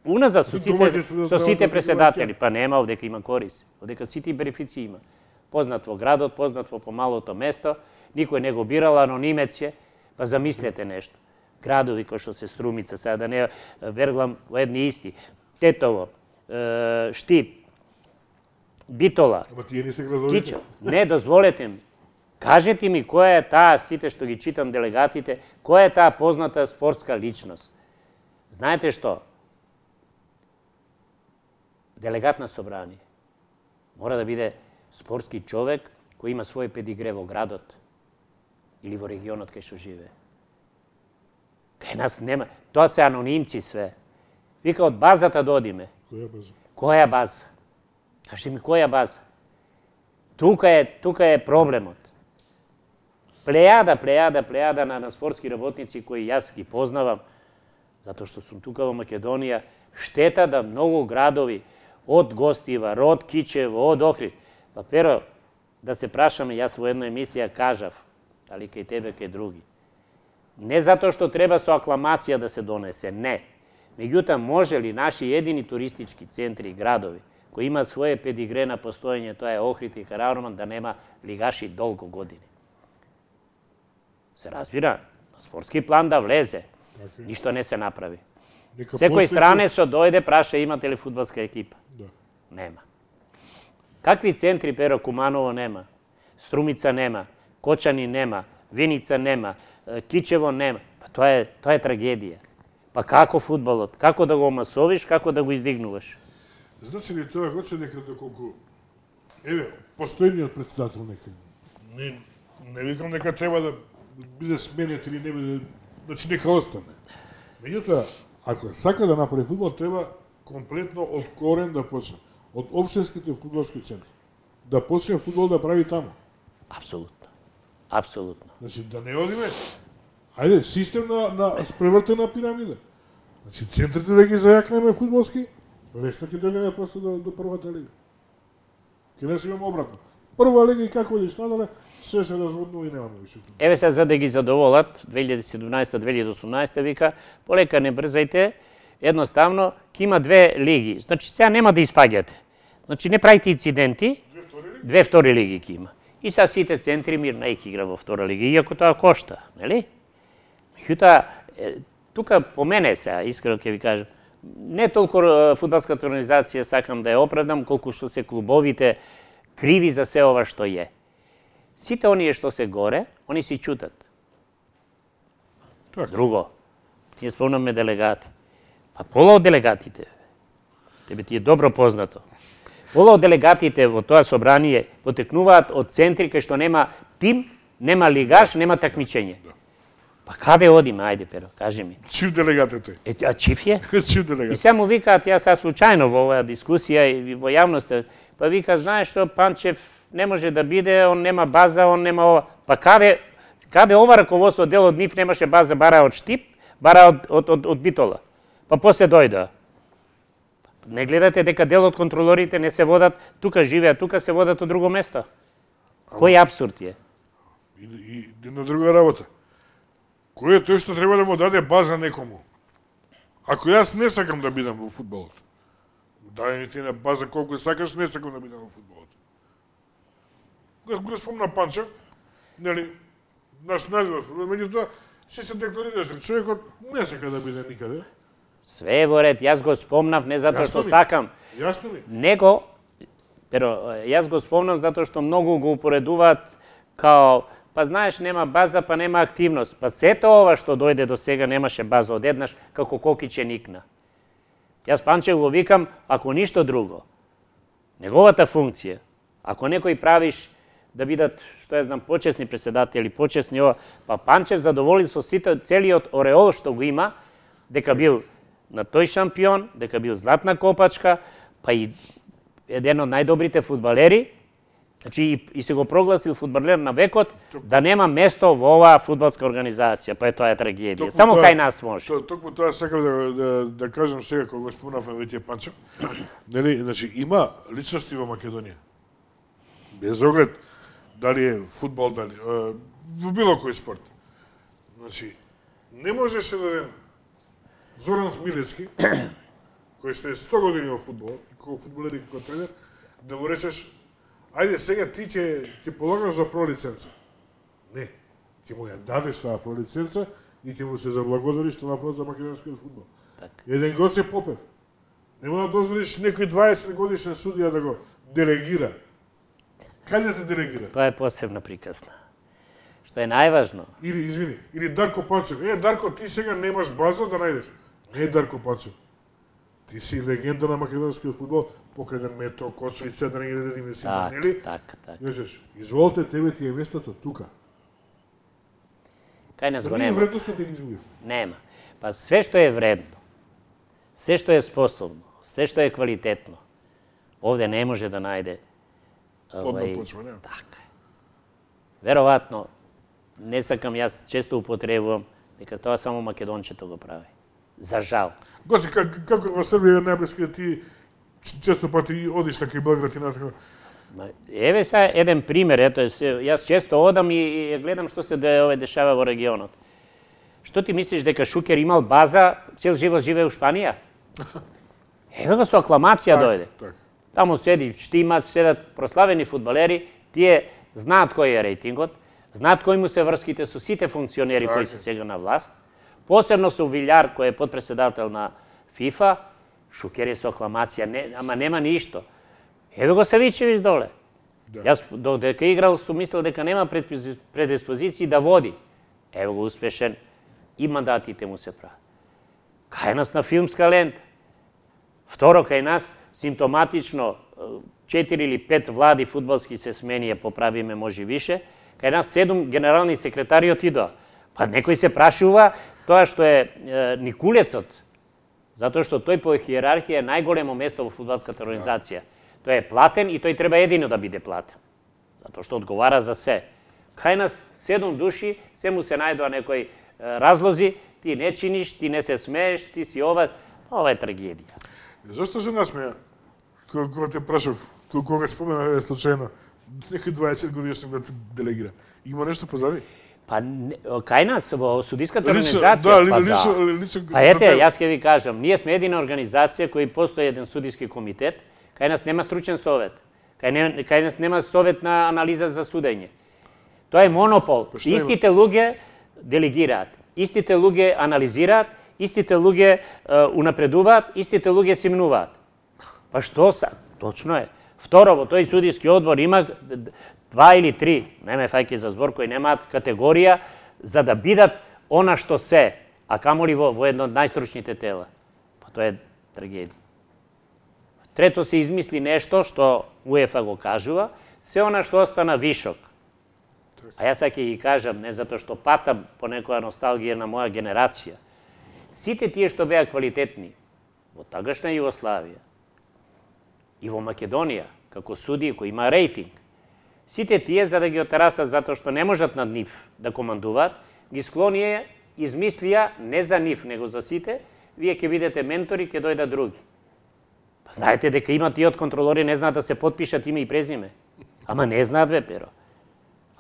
Уназад со сите, со сите преседатели, па нема овдека има корис, овдека сите бенефиции има. Познат во градот, познат во помалото место, никој не го бирал, анонимец е, па замислете нешто. Градови кои што се Струмица, сега да не верглам во едни исти, Тетово, Штип, Битола, Ама тие не се градовите. Не, дозволете ми. Кажете ми која е таа, сите што ги читам делегатите, која е таа позната спортска личност. Знаете што? Делегат на собрание мора да биде спортски човек кој има свој педигре во градот или во регионот кај што живее. Кај нас нема. Тоа се анонимци све. Вика од базата да одиме. Која база? Која база? Кажи ми која база? Тука е, тука е проблемот. Плејада, плејада, плејада на, на спортски работници кои јас ги познавам, затоа што сум тука во Македонија, штета да многу градови од Гостивар, од Кичево, од Охрид. Па Перо, да се прашаме, јас во една емисија кажав, дали кај тебе, кај други. Не затоа што треба со акламација да се донесе, не. Меѓутоа, може ли наши едини туристички центри и градови, кои имаат своје педигре на постоење, тоа е Охрид и Караорман, да нема лигаши долго години? Се разбира, на спортски план да влезе, ништо не се направи. Секој странецо дојде, праша имате ли фудбалска екипа? Да. Нема. Какви центри, Перо? Куманово нема, Струмица нема, Кочани нема, Виница нема, Кичево нема. Па тоа е, тоа е трагедија. Па како фудбалот? Како да го масовиш, како да го издигнуваш? Значи ли тоа хоче дека доколку еве постојниот претседател нека не не викам дека треба да биде сменет или не биде, значи нека остане. Меѓутоа, ако сака да направи фудбал, треба комплетно од корен да почне. Од општинските фудбалски центри. Да почне фудбал да прави таму. Апсолутно. Апсолутно. Значи да не одиме, ајде, систем на, на спревртена пирамида. Значи центрите да ги зајакнеме фудбалски, лесно ќе дојдеме после до, до првата лига. Ке не си имаме обратно. Прва лига и како идеш надале, се се разводнува и немаме више фудбал. Еве се за да ги задоволат, две илјади и седумнаесета две илјади и осумнаесета вика, полека не брзајте, едноставно, ќе има две лиги. Значи сега нема да испаѓате. Значи не правите инциденти, две втори лиги ќе има. И са сите центри мирно ќе игра во втора лига, иако тоа кошта, нели? Меѓутоа, тука по мене сега, искрено ќе ви кажам, не толку фудбалската организација сакам да ја оправдам, колку што се клубовите криви за се ова што е. Сите оние што се горе, они си чутат. Так. Друго, ние спомнаме делегати. Па пола од делегатите, тебе ти е добро познато, пола од делегатите во тоа собрание потекнуваат од центри кај што нема тим, нема лигаш, нема такмичење. Па каде одиме, ајде Перо, кажи ми. Чив делегат е тој. Е, а чив е? Чив И делегат. сега му викаат, јас сега случајно во оваа дискусија и во јавноста, па вика, знаеш што, Панчев не може да биде, он нема база, он нема ова. Па каде, каде ова раководство, дел од нив немаше база, бара од Штип, бара од, од, од, од Битола. Па после дојдоа. Не гледате дека дел од контролорите не се водат, тука живеат, тука се водат од друго место. Кој апсурд е? И, и една друга работа. Кој е тој што треба да му даде база некому? Ако јас не сакам да бидам во фудбалот, дај ми ти на база колку сакаш, не сакам да бидам во фудбалот. Го, го спомна Панчев, нели, наш најдобар фудбал, меѓутоа се се декларираше, човекот не сака да биде никаде. Све е во ред, јас го спомнав не затоа што ми. сакам, Јасно ми? него, pero јас го спомнам затоа што многу го упоредуваат као, па знаеш нема база, па нема активност. Па сето ова што дојде до сега немаше база, одеднаш како кокиче никна. Јас Панчев го викам, ако ништо друго, неговата функција, ако некој правиш да бидат, што ја знам, почесни преседатели, почесни ова, па Панчев задоволи со сите целиот ореол што го има, дека бил на тој шампион, дека бил златна копачка, па и еден од најдобрите фудбалери, значи и, и се го прогласил фудбалер на векот, да нема место во оваа фудбалска организација, па е тоа е трагедија. Токму Само тоа- кај нас може. То, токму тоа сакам да, да, да кажам сега кога го спомнавме веќе Панчев. Нели, значи има личности во Македонија. Без оглед дали е фудбал, дали е, во било кој спорт. Значи не можеше да ден Зоран Милецки, кој што е сто години во фудбал, и како фудбалер и како тренер, да му речеш ајде сега ти ќе ќе полагаш за пролиценца. Не, ќе му ја дадеш таа пролиценца и ќе му се заблагодариш што направи за македонскиот фудбал. Така. Еден Гоце Попев. Нема да дозволиш некој дваесет годишен судија да го делегира. Каде те делегира? Тоа е посебна приказна. Што е најважно, Или, извини, или Дарко Панчев. Е, Дарко, ти сега немаш база да најдеш. Не е Дарко Панчев. Ти си легенда на македонскиот фудбал, покреден Мето, Кочо и седа не ги да сите, нели? така, така, така. И речеш, изволите, тебе ти е местото тука. Кај нас го Ние нема. вредностите ги изгубив. Нема. Па све што е вредно, све што е способно, све што е квалитетно, овде не може да најде Плодна овај, почва, нема. така е. Веројатно, не сакам, јас често употребувам дека тоа само македончето го прави. За жал. Гоци, как, како во Србија е најблиско ти ч- често пати одиш на кај Белград и натака. Ма, еве сега еден пример, ето, се- јас често одам и, и гледам што се де, ове дешава во регионот. Што ти мислиш дека Шукер имал база, цел живот живее у Шпанија? Еве го со акламација дојде. Так. Таму седи Штимац, седат прославени фудбалери, тие знаат кој е рейтингот, знаат кои му се врските со сите функционери кои се сега на власт, посебно со Вилјар, кој е подпредседател на ФИФА, Шукер е со акламација, не, ама нема ништо. Еве го Савичевиќ доле. Да. Јас додека играл сум мислел дека нема предпози- предиспозиции да води. Еве го успешен и мандатите му се прават. Кај нас на филмска лента. Второ, кај нас симптоматично четири или пет влади фудбалски се сменија, поправиме може више. Кај нас седум генерални секретари отидоа. Па некој се прашува тоа што е, е Никулецот, затоа што тој по хиерархија е најголемо место во фудбалската организација. Тој е платен и тој треба едино да биде платен. Затоа што одговара за се. Кај нас седум души, се му се најдоа некои е, разлози, ти не чиниш, ти не се смееш, ти си ова, ова е трагедија. Зошто се насмеја? Кога, кога те прашав, кога, кога спомена е случајно, некој дваесет годишник да те делегира. Има нешто позади? Па не- кај нас во судиската Лично- организација, да, ли- па лично- да. лично Па за ете, тебе. јас ќе ви кажам, ние сме едина организација кој постои еден судиски комитет, кај нас нема стручен совет, кај, не, кај нас нема совет на анализа за судење. Тоа е монопол. Па што има? Истите луѓе делегираат, истите луѓе анализираат, истите луѓе е, унапредуваат, истите луѓе симнуваат. Па што са? Точно е. Второ, во тој судиски одбор има д- д- два или три, не ме фаќај за збор, кои немаат категорија за да бидат она што се, а камоли во, во едно од најстручните тела. Па тоа е трагедија. Трето, се измисли нешто што УЕФА го кажува, се она што остана вишок. А јас ќе ги кажам, не затоа што патам по некоја носталгија на моја генерација. Сите тие што беа квалитетни во тагашна Југославија и во Македонија, како суди кои има рейтинг, сите тие за да ги отерасат затоа што не можат над нив да командуваат, ги склонија, измислија не за нив, него за сите, вие ќе бидете ментори, ќе дојдат други. Па знаете дека има тие од контролори не знаат да се потпишат име и презиме. Ама не знаат бе, перо.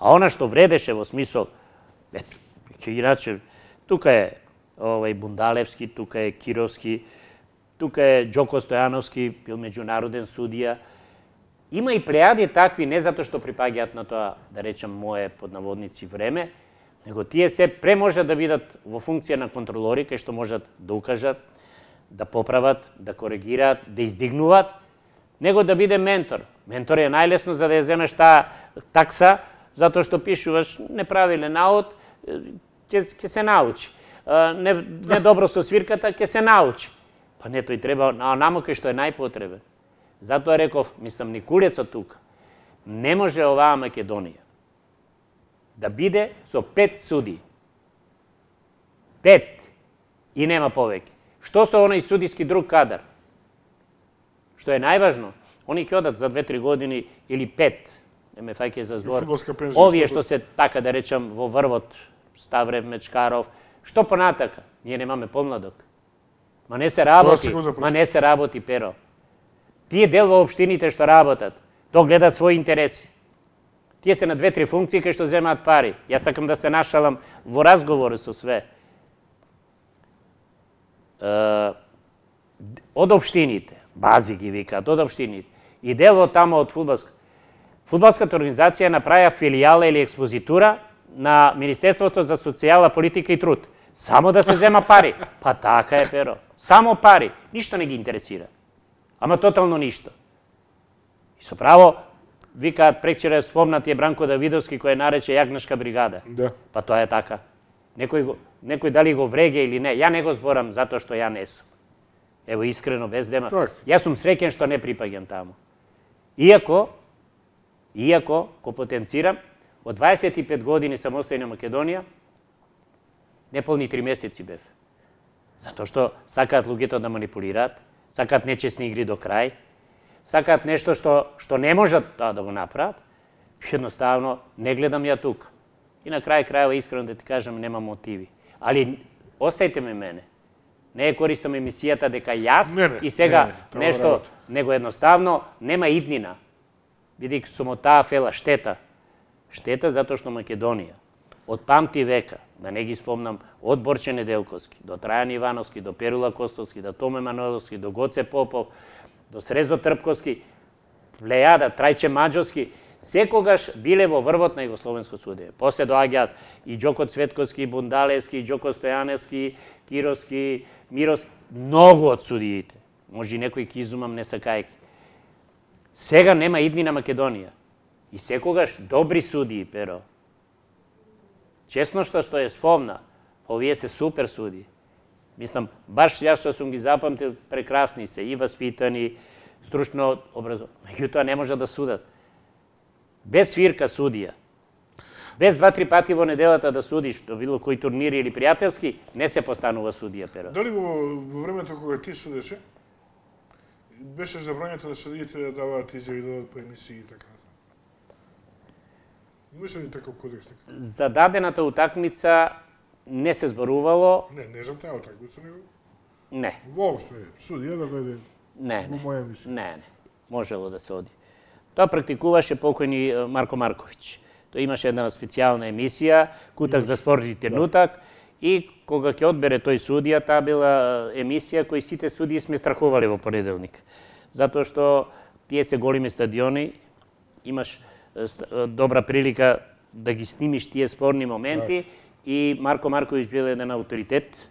А она што вредеше во смисол, ето, иначе, тука е овај Бундалевски, тука е Кировски, тука е Џоко Стојановски, бил меѓународен судија. Има и плејади такви, не затоа што припаѓаат на тоа, да речем, мое под наводници време, него тие се пре можат да бидат во функција на контролори, кај што можат да укажат, да поправат, да коригираат, да издигнуваат, него да биде ментор. Ментор е најлесно за да ја земеш таа такса, затоа што пишуваш неправилен наод, ќе ќе се научи. Не, не добро со свирката, ќе се научи. Па не, тој треба, а намо кај што е најпотребен. Затоа реков, мислам, Никулецот тука, не може оваа Македонија да биде со пет суди. Пет. И нема повеќе. Што со оној судиски друг кадар? Што е најважно, они ќе одат за две-три години или пет, не ме фаќај за збор. Овие што се, така да речам, во врвот, Ставрев, Мечкаров, што понатака? Ние немаме помладок. Ма не се работи, ма не се работи, Pero. Тие дел во општините што работат, то гледат своји интереси. Тие се на две-три функции кај што земаат пари. Јас сакам да се нашалам во разговори со све. Од општините, бази ги викаат, од општините, и дел од тамо од фудбалска. Фудбалската организација направија филијала или експозитура на Министерството за социјална политика и труд. Само да се зема пари. Па така е, Pero. Само пари. Ништо не ги интересира. Ама тотално ништо. И со право, викаат прекчера спомнати е Бранко Давидовски кој нарече јагнешка бригада. Да. Па тоа е така. Некој, некој дали го вреге или не, ја не го зборам затоа што ја не сум. Ево искрено, без дема. Так. Јас сум среќен што не припаѓам таму. Иако, иако, ко потенцирам, од дваесет и пет години самостојна Македонија, неполни три месеци бев. Затоа што сакаат луѓето да манипулираат, сакаат нечесни игри до крај, сакаат нешто што, што не можат да, да го направат, едноставно не гледам ја тука. И на крај крајава, искрено да ти кажам, нема мотиви. Али, остајте ме мене. Не е користам емисијата дека јас не, не, и сега не, не, нешто, него едноставно нема иднина. Бидејќи сум од таа фела штета. Штета затоа што Македонија од памти века, да не ги спомнам, од Борче Неделковски, до Трајан Ивановски, до Перула Костовски, до Томе Мануеловски, до Гоце Попов, до Срезо Трпковски, Плејада, Трајче Маđовски, секогаш биле во врвот на југословенско судење. После доаѓаат и Џоко Цветковски, Бундалевски, Џоко Стојаневски, Кировски, Мирос, многу од судиите. Може и некој ки изумам не сакајки. Сега нема идни на Македонија. И секогаш добри судии, Pero. Чесно што што е спомна, овие се супер судии. Мислам, баш јас што сум ги запамтил, прекрасни се, и васпитани, стручно образовани. Меѓутоа не може да судат. Без свирка судија. Без два-три пати во неделата да судиш, до било кој турнири или пријателски, не се постанува судија, Pero. Дали во, во времето кога ти судеше, беше забрањето на судиите да даваат изјави, да дадат по емисии и така? Имаше ли таков кодекс? За дадената утакмица не се зборувало. Не, не за таа утакмица, него? Не. Воопшто е, судија да дојде не, во моја емисија. Не, не, можело да се оди. Тоа практикуваше покојни Марко Марковиќ. Тој имаше една специјална емисија, Кутак за спорт и тренутак, и кога ќе одбере тој судија, таа била емисија кој сите судии сме страхували во понеделник. Затоа што тие се големи стадиони, имаш добра прилика да ги снимиш тие спорни моменти, и Марко Марковиќ бил еден авторитет,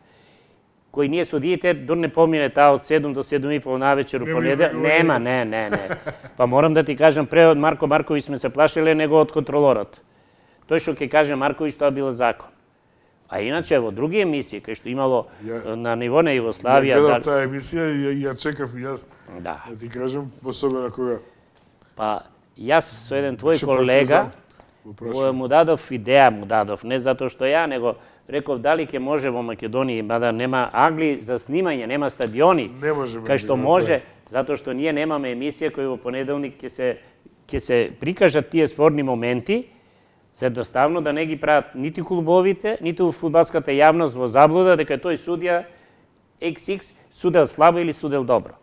кој ние судиите, дор не помине таа од седум до седум и пол навечер у понеделник. Нема, не, не, не. Па морам да ти кажам, пре од Марко Марковиќ сме се плашеле него од контролорот. Тој што ќе каже Марковиќ, тоа било закон. А иначе во други емисии, кај што имало ја, на ниво на Југославија... Ја гледав таа емисија и ја, ја чекав и јас, да. да ти кажам, особено кога... Па, јас со еден твој колега му дадов идеја, му дадов, не затоа што ја, него реков дали ќе може во Македонија, мада нема агли за снимање, нема стадиони, не може, кај што може, затоа што ние немаме емисија која во понеделник ќе се ќе се прикажат тие спорни моменти, за едноставно да не ги прават нити клубовите, нити фудбалската јавност во заблуда дека тој судија икс икс судел слабо или судел добро.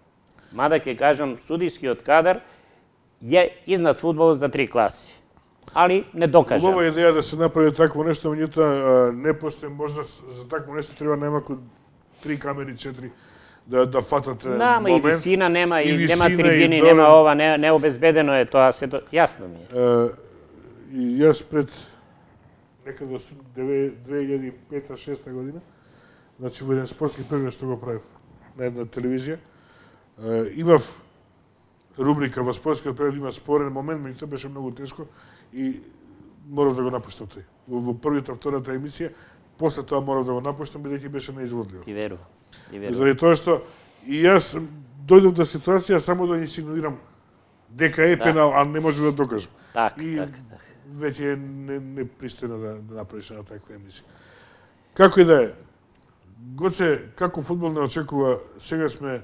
Мада ќе кажам, судискиот кадар е изнад фудбалот за три класи. Али не докажа. Убава идеја да се направи такво нешто, меѓутоа не постои можност за такво нешто, треба најмалку три камери, четири да да фатате да, момент. И висина нема, и, и висина, нема и трибини, нема ова, не, не обезбедено е тоа, се то, јасно ми е. И јас пред некаде две илјади и пета шеста година, значи во еден спортски преглед што го правив на една телевизија, имав рубрика во спортскиот преглед, има спорен момент, меѓутоа беше многу тешко и морав да го напуштам тој. Во, во првата, втората емисија, после тоа морав да го напуштам, бидејќи беше неизводливо. Ти верувам. Ти верувам. Заради тоа што и јас дојдов до ситуација само да инсинуирам дека е пенал, а не можев да докажам. Така, и така, така. Веќе е не, непристојно да, да направиш на таква емисија. Како и да е, Гоце, како фудбал не очекува, сега сме,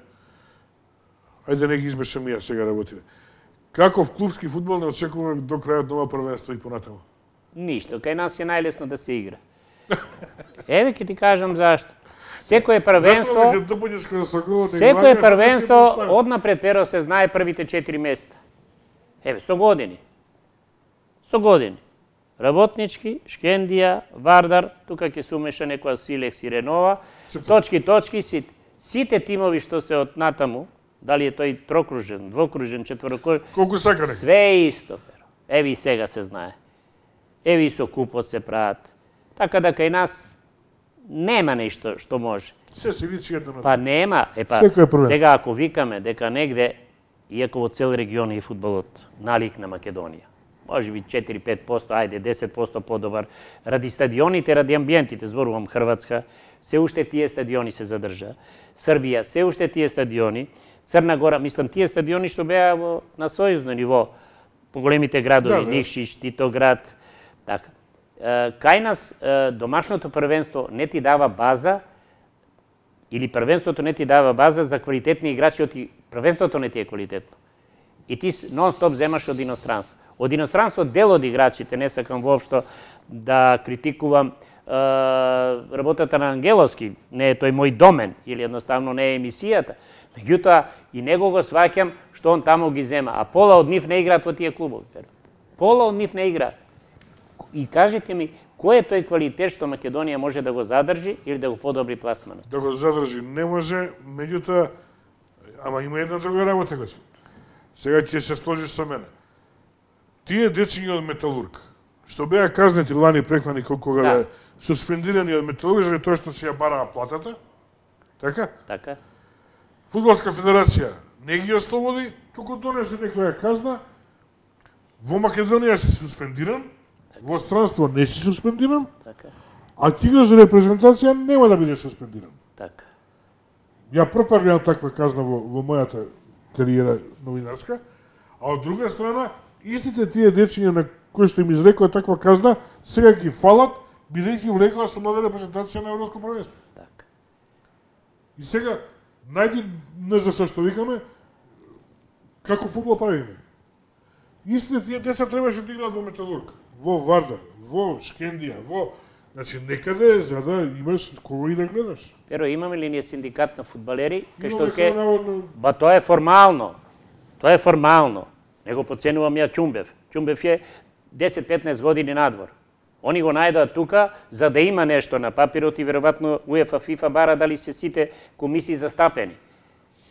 ајде не ги избешам ја сега работите. Каков клубски фудбал не очекува до крајот на ова првенство и понатаму? Ништо, кај нас е најлесно да се игра. Еве ќе ти кажам зашто. Секое првенство, секое првенство однапред перо се знае првите четири места. Еве, со години. Со години. Работнички, Шкендија, Вардар, тука ќе се умеша некоја Силекс и Ренова, точки, точки, сите. Сите тимови што се од натаму, дали е тој трокружен, двокружен, четворокружен, колку сакаре. Све е исто, перо. Еве и сега се знае. Еве и со купот се прават. Така да кај нас нема нешто што може. Се се вичи едно на Па нема, е па сега ако викаме дека негде, иако во цел регион е фудбалот налик на Македонија, може би четири-пет проценти, ајде десет проценти подобар, ради стадионите, ради амбиентите, зборувам Хрватска, се уште тие стадиони се задржа. Србија, се уште тие стадиони. Црна Гора, мислам, тие стадиони што беа во, на сојузно ниво, по големите градови, да, Никшиш, Титоград, така. Кај нас домашното првенство не ти дава база, или првенството не ти дава база за квалитетни играчи, оти првенството не ти е квалитетно. И ти нон-стоп земаш од иностранство. Од иностранство дел од играчите, не сакам воопшто да критикувам е, работата на Ангеловски, не е тој мој домен, или едноставно не е емисијата. Меѓутоа, и него го сваќам што он таму ги зема, а пола од нив не играат во тие клубови. Пола од нив не играат. И кажете ми, кој е тој квалитет што Македонија може да го задржи или да го подобри пласманот? Да го задржи не може, меѓутоа, ама има една друга работа, гоце. Сега ќе се сложиш со мене. Тие дечиња од Металург, што беа казнети лани преклани кога да. беа суспендирани од Металург заради тоа што си ја бараа платата, така? Така. Фудбалска федерација не ги ослободи, туку донесе некоја казна, во Македонија си суспендиран, во странство не си суспендиран, така. А ти играш за репрезентација нема да бидеш суспендиран. Така. Ја прв видам таква казна во, во мојата кариера новинарска, а од друга страна, истите тие дечиња на кои што им изрекоа таква казна, сега ги фалат, бидејќи влегла со млада репрезентација на Европско првенство. Така. И сега, најди не за се што викаме, како фудбал правиме. Истите тие деца требаше да играат во Металург, во Вардар, во Шкендија, во... Значи, некаде за да имаш кого и да гледаш. Перо, имаме ли ние синдикат на фудбалери? Кај што ке... Ба, тоа е формално. Тоа е формално. Не го подценувам ја Чумбев. Чумбев е десет-петнаесет години надвор. Они го најдоа тука за да има нешто на папирот и веројатно УЕФА, ФИФА бара дали се сите комисии застапени.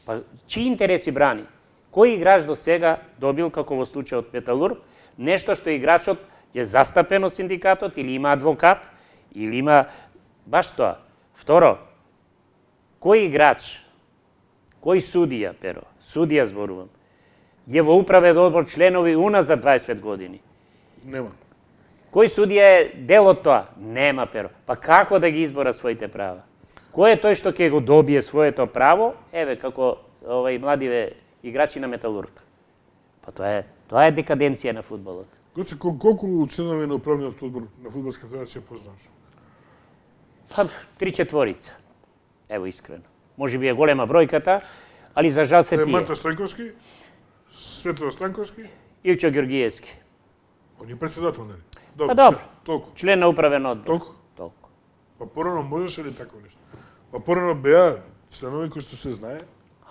Па, чии интереси брани? Кој играч до сега добил, како во случајот Металург, нешто што играчот е застапен од синдикатот или има адвокат, или има баш тоа. Второ, кој играч, кој судија, Перо, судија зборувам, е во управен одбор членови уназад дваесет пет години? Нема. Кој судија е дел од тоа? Нема, Перо. Па како да ги избора своите права? Кој е тој што ќе го добие своето право? Еве, како овај младиве играчи на Металург. Па тоа е, тоа е декаденција на фудбалот. Гоце, колку членови на управниот одбор на Фудбалска федерација познаваш? Па, три четворица. Ево, искрено. Може би е голема бројката, али за жал се тие. Манта Стојковски, Светло Станковски, Илчо Георгиевски. Он е председател, нели? Па добро. Толку. Член на управен одбор. Толку? Толку. Па порано можеше ли тако нешто? Па порано беа членови кои што се знае.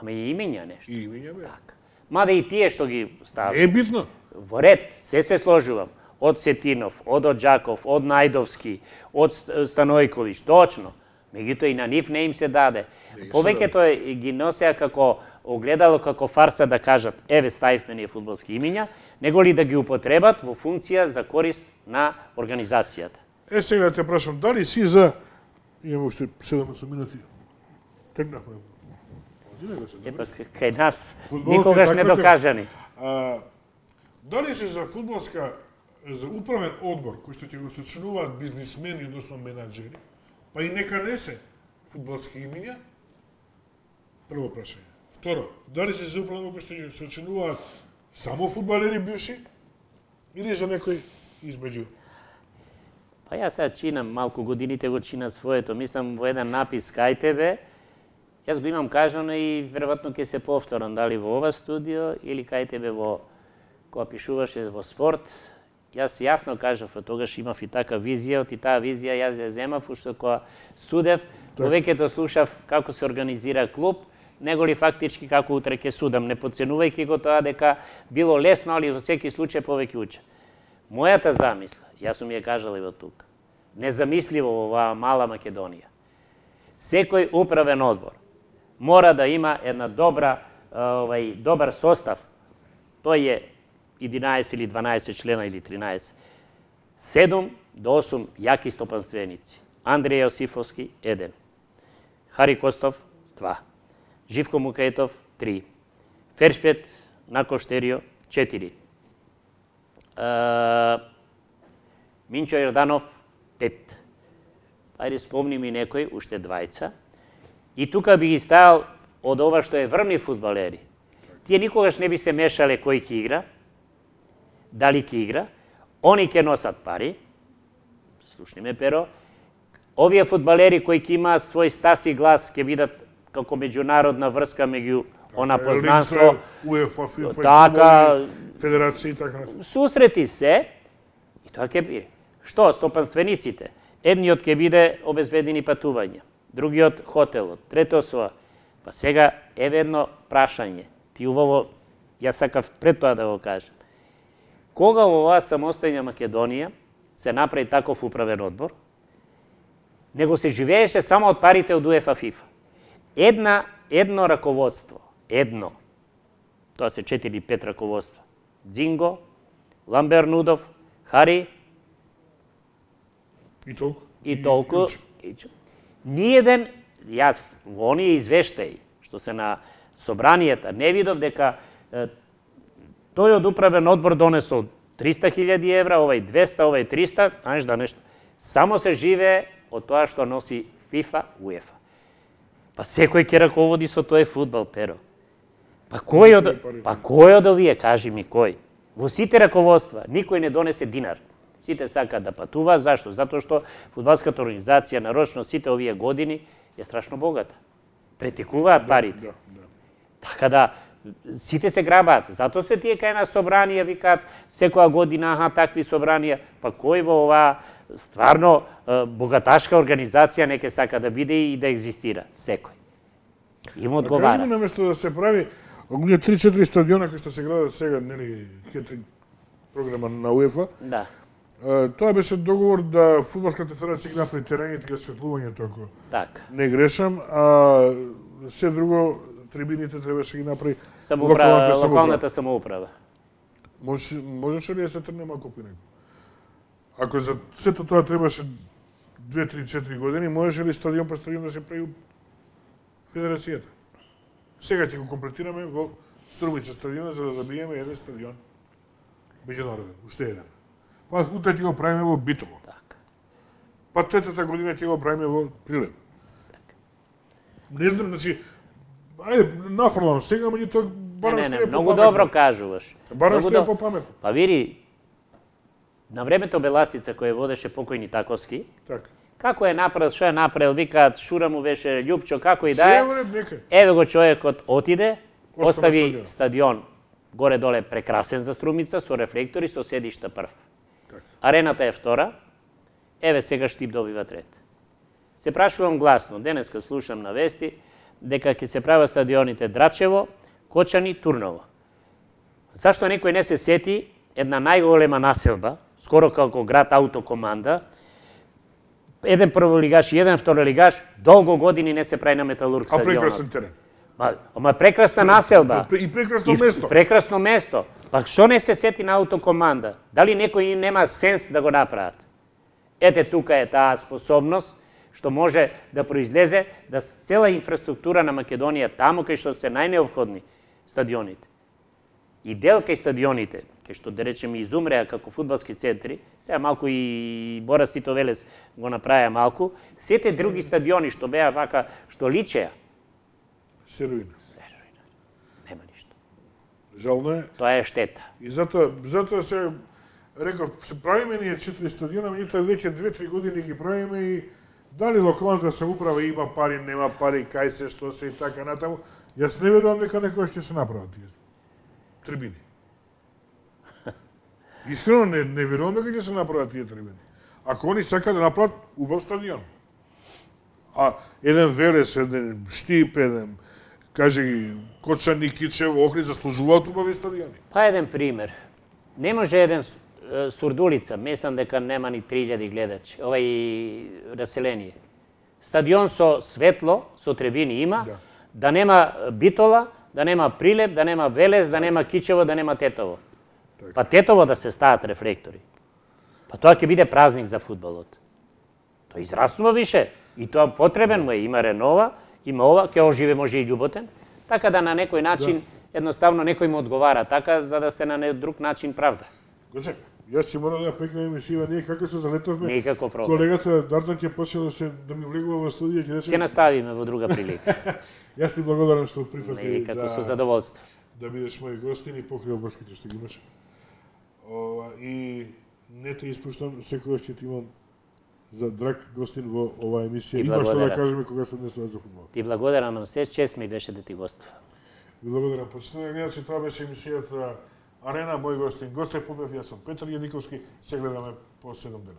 Ама и имиња нешто. И имиња беа. Така. Мада и тие што ги стават. Не е битно. Во ред, се се сложувам. Од Сетинов, од Оджаков, од Најдовски, од Станојковиќ, точно. Меѓутоа и на нив не им се даде. Повеќето ги носеа како огледало, како фарса да кажат, еве ставивме ние фудбалски имиња, него ли да ги употребат во функција за корист на организацијата. Е, сега да те прашам, дали си за... Имаме уште седумдесет минути. Тргнахме. Е, па кај нас никогаш не докажани. Дали си за фудбалска, за управен одбор, кој што ќе го сочинуваат бизнисмени, односно менаджери, па и нека не се фудбалски имиња? Прво прашање. Второ, дали си за управен одбор кој што ќе сочинуваат само фудбалери бивши или за некој измеѓу? Па јас сега чинам, малку годините го чина своето. Мислам во еден напис кај тебе, јас го имам кажано и веројатно ќе се повторам, дали во ова студио или кај тебе во кога пишуваше во спорт. Јас јасно кажав, тогаш имав и така визија, и таа визија јас ја земав, уште кога судев, повеќето слушав како се организира клуб, него ли фактички како утре ќе судам, не подценувајќи го тоа дека било лесно, али во секи случај повеќе уча. Мојата замисла, јас сум ја кажала и во тука, незамисливо во оваа мала Македонија. Секој управен одбор мора да има една добра, овај, добар состав. Тој е единаесет или дванаесет члена или тринаесет. седум до осум јаки стопанственици. Андреј Јосифовски, еден. Хари Костов, два. Живко Мукаетов, три. Фершпет Накоштерио, четири. Минчо Јорданов, пет. Ајде спомни ми некој, уште двајца. И тука би ги ставил од ова што е врвни фудбалери. Тие никогаш не би се мешале кој ќе игра, дали ќе игра, они ќе носат пари, слушни ме Перо, овие фудбалери кои ќе имаат свој стас и глас ќе бидат како меѓународна врска меѓу она познанство, УЕФА, ФИФА, така, федерации и така. Сусрети се и тоа ќе биде. Што, стопанствениците? Едниот ќе биде обезбедени патувања, другиот хотелот, третиот соа. Па сега еве едно прашање. Ти убаво, јас сакав пред тоа да го кажам. Кога во оваа самостојна Македонија се направи таков управен одбор, него се живееше само од парите од УЕФА ФИФА. Една, едно раководство, едно, тоа се четири пет раководства, Дзинго, Ламбер Нудов, Хари, и толку, и толку, ниеден, јас во оние извештаи, што се на собранијата, не видов дека е, тој од управен одбор донесол триста хилјади евра, овај двеста, овај триста, знаеш да нешто. Само се живее од тоа што носи ФИФА, УЕФА. Па секој ќе раководи со тој фудбал, Перо. Па кој од, па кој од овие, кажи ми кој? Во сите раководства никој не донесе динар. Сите сакаат да патуваат, зашто? Затоа што фудбалската организација нарочно сите овие години е страшно богата. Претекуваат парите. Да, да. Така да, сите се грабаат. Затоа се тие кај на собранија викаат секоја година, аха, такви собранија. Па кој во оваа стварно богаташка организација не ќе сака да биде и да екзистира? Секој. Им одговара. Кажи ми, наместо да се прави оние три-четири стадиона кои што се градат сега, нели, хетринг програма на УЕФА, да. Тоа беше договор да фудбалската федерација ги направи терените кај осветлувањето, ако така не грешам, а се друго трибините требаше ги направи локалната самоуправа. Локалната самоуправа. Може, можеше ли да се трне малку по него? Ако за сето тоа требаше две, три, четири години, можеше ли стадион по стадион да се прави федерацијата? Сега ќе го комплетираме во Струмица стадиона за да добиеме еден стадион меѓународен, уште еден. Па утре ќе го правиме во Битово. Така. Па третата година ќе го правиме во Прилеп. Така. Не знам, значи, ајде, нафрлам сега, меѓутоа барам не, не, што не, е многу попаметно. добро кажуваш. Барам Многу што е до- попаметно. Па види, на времето Беласица кој водеше покојни Таковски, Така. како е направил, што е направил, викаат Шура му беше Љупчо, како и да Се е. е во ред, нека. Еве го човекот отиде, Остава остави стадион. стадион горе-доле прекрасен за Струмица, со рефлектори, со седишта прв. Така. Арената е втора, еве сега Штип добива трет. Се прашувам гласно, денеска слушам на вести, дека ќе се прават стадионите Драчево, Кочани, Турново. Зашто некој не се сети една најголема населба, скоро како град Аутокоманда, еден прволигаш и еден второлигаш, долго години не се прави на Металург А стадионот. прекрасен терен. Ма, ама прекрасна населба. И прекрасно И место. прекрасно место. Па што не се сети на Аутокоманда? Дали некој нема сенс да го направат? Ете, тука е таа способност што може да произлезе да цела инфраструктура на Македонија таму кај што се најнеопходни стадионите. И дел кај стадионите, кај што да речеме изумреа како фудбалски центри, сега малку и Борас Тито Велес го направија малку, сете други стадиони што беа вака, што личеа, Се руина. нема ништо. Жално е. Тоа е штета. И затоа, затоа се реков, се правиме ние четири стадиона, меѓутоа веќе две-три години ги правиме и дали локалната самоуправа има пари, нема пари, кај се, што се и така натаму. Јас не верувам дека некој ќе се направат тие трибини. Искрено не, не верувам дека ќе се направат тие трибини. Ако они сакаат да направат убав стадион. А еден Велес, еден Штип, еден, кажи ги, Кочан, Никичево, Охрид заслужуваат убави стадиони. Па еден пример. Не може еден Сурдулица, мислам дека нема ни три илјади гледачи, овај раселение. Стадион со светло, со трибини има, да, да нема Битола, да нема Прилеп, да нема Велес, да нема Кичево, да нема Тетово. Так. Па Тетово да се стават рефлектори. Па тоа ќе биде празник за фудбалот. Тоа израснува више и тоа потребен му е, има ренова, има ова, ќе оживе може и љуботен, така да на некој начин, да, едноставно некој му одговара така, за да се на друг начин правда. Гоце, јас ќе мора да прекнем емисија, ние како се залетовме. Никако проблем. Колегата Дардан ќе почне да се да ми влегува во студија, ќе рече. Ќе наставиме во друга прилика. Јас ти благодарам што прифати Никако да со задоволство. Да бидеш мој гостин и покри обврските што ги имаш. Ова и не те испуштам, секогаш ќе ти имам за драг гостин во оваа емисија. Има што да кажеме кога се однесува за фудбал. Ти благодарам на се, чест ми беше да ти гостувам. Ви благодарам. Почитувани гледачи, тоа беше емисијата Арена, мој гостин Гоце Попев, јас сум Петар Јадиковски, се гледаме по седум дена.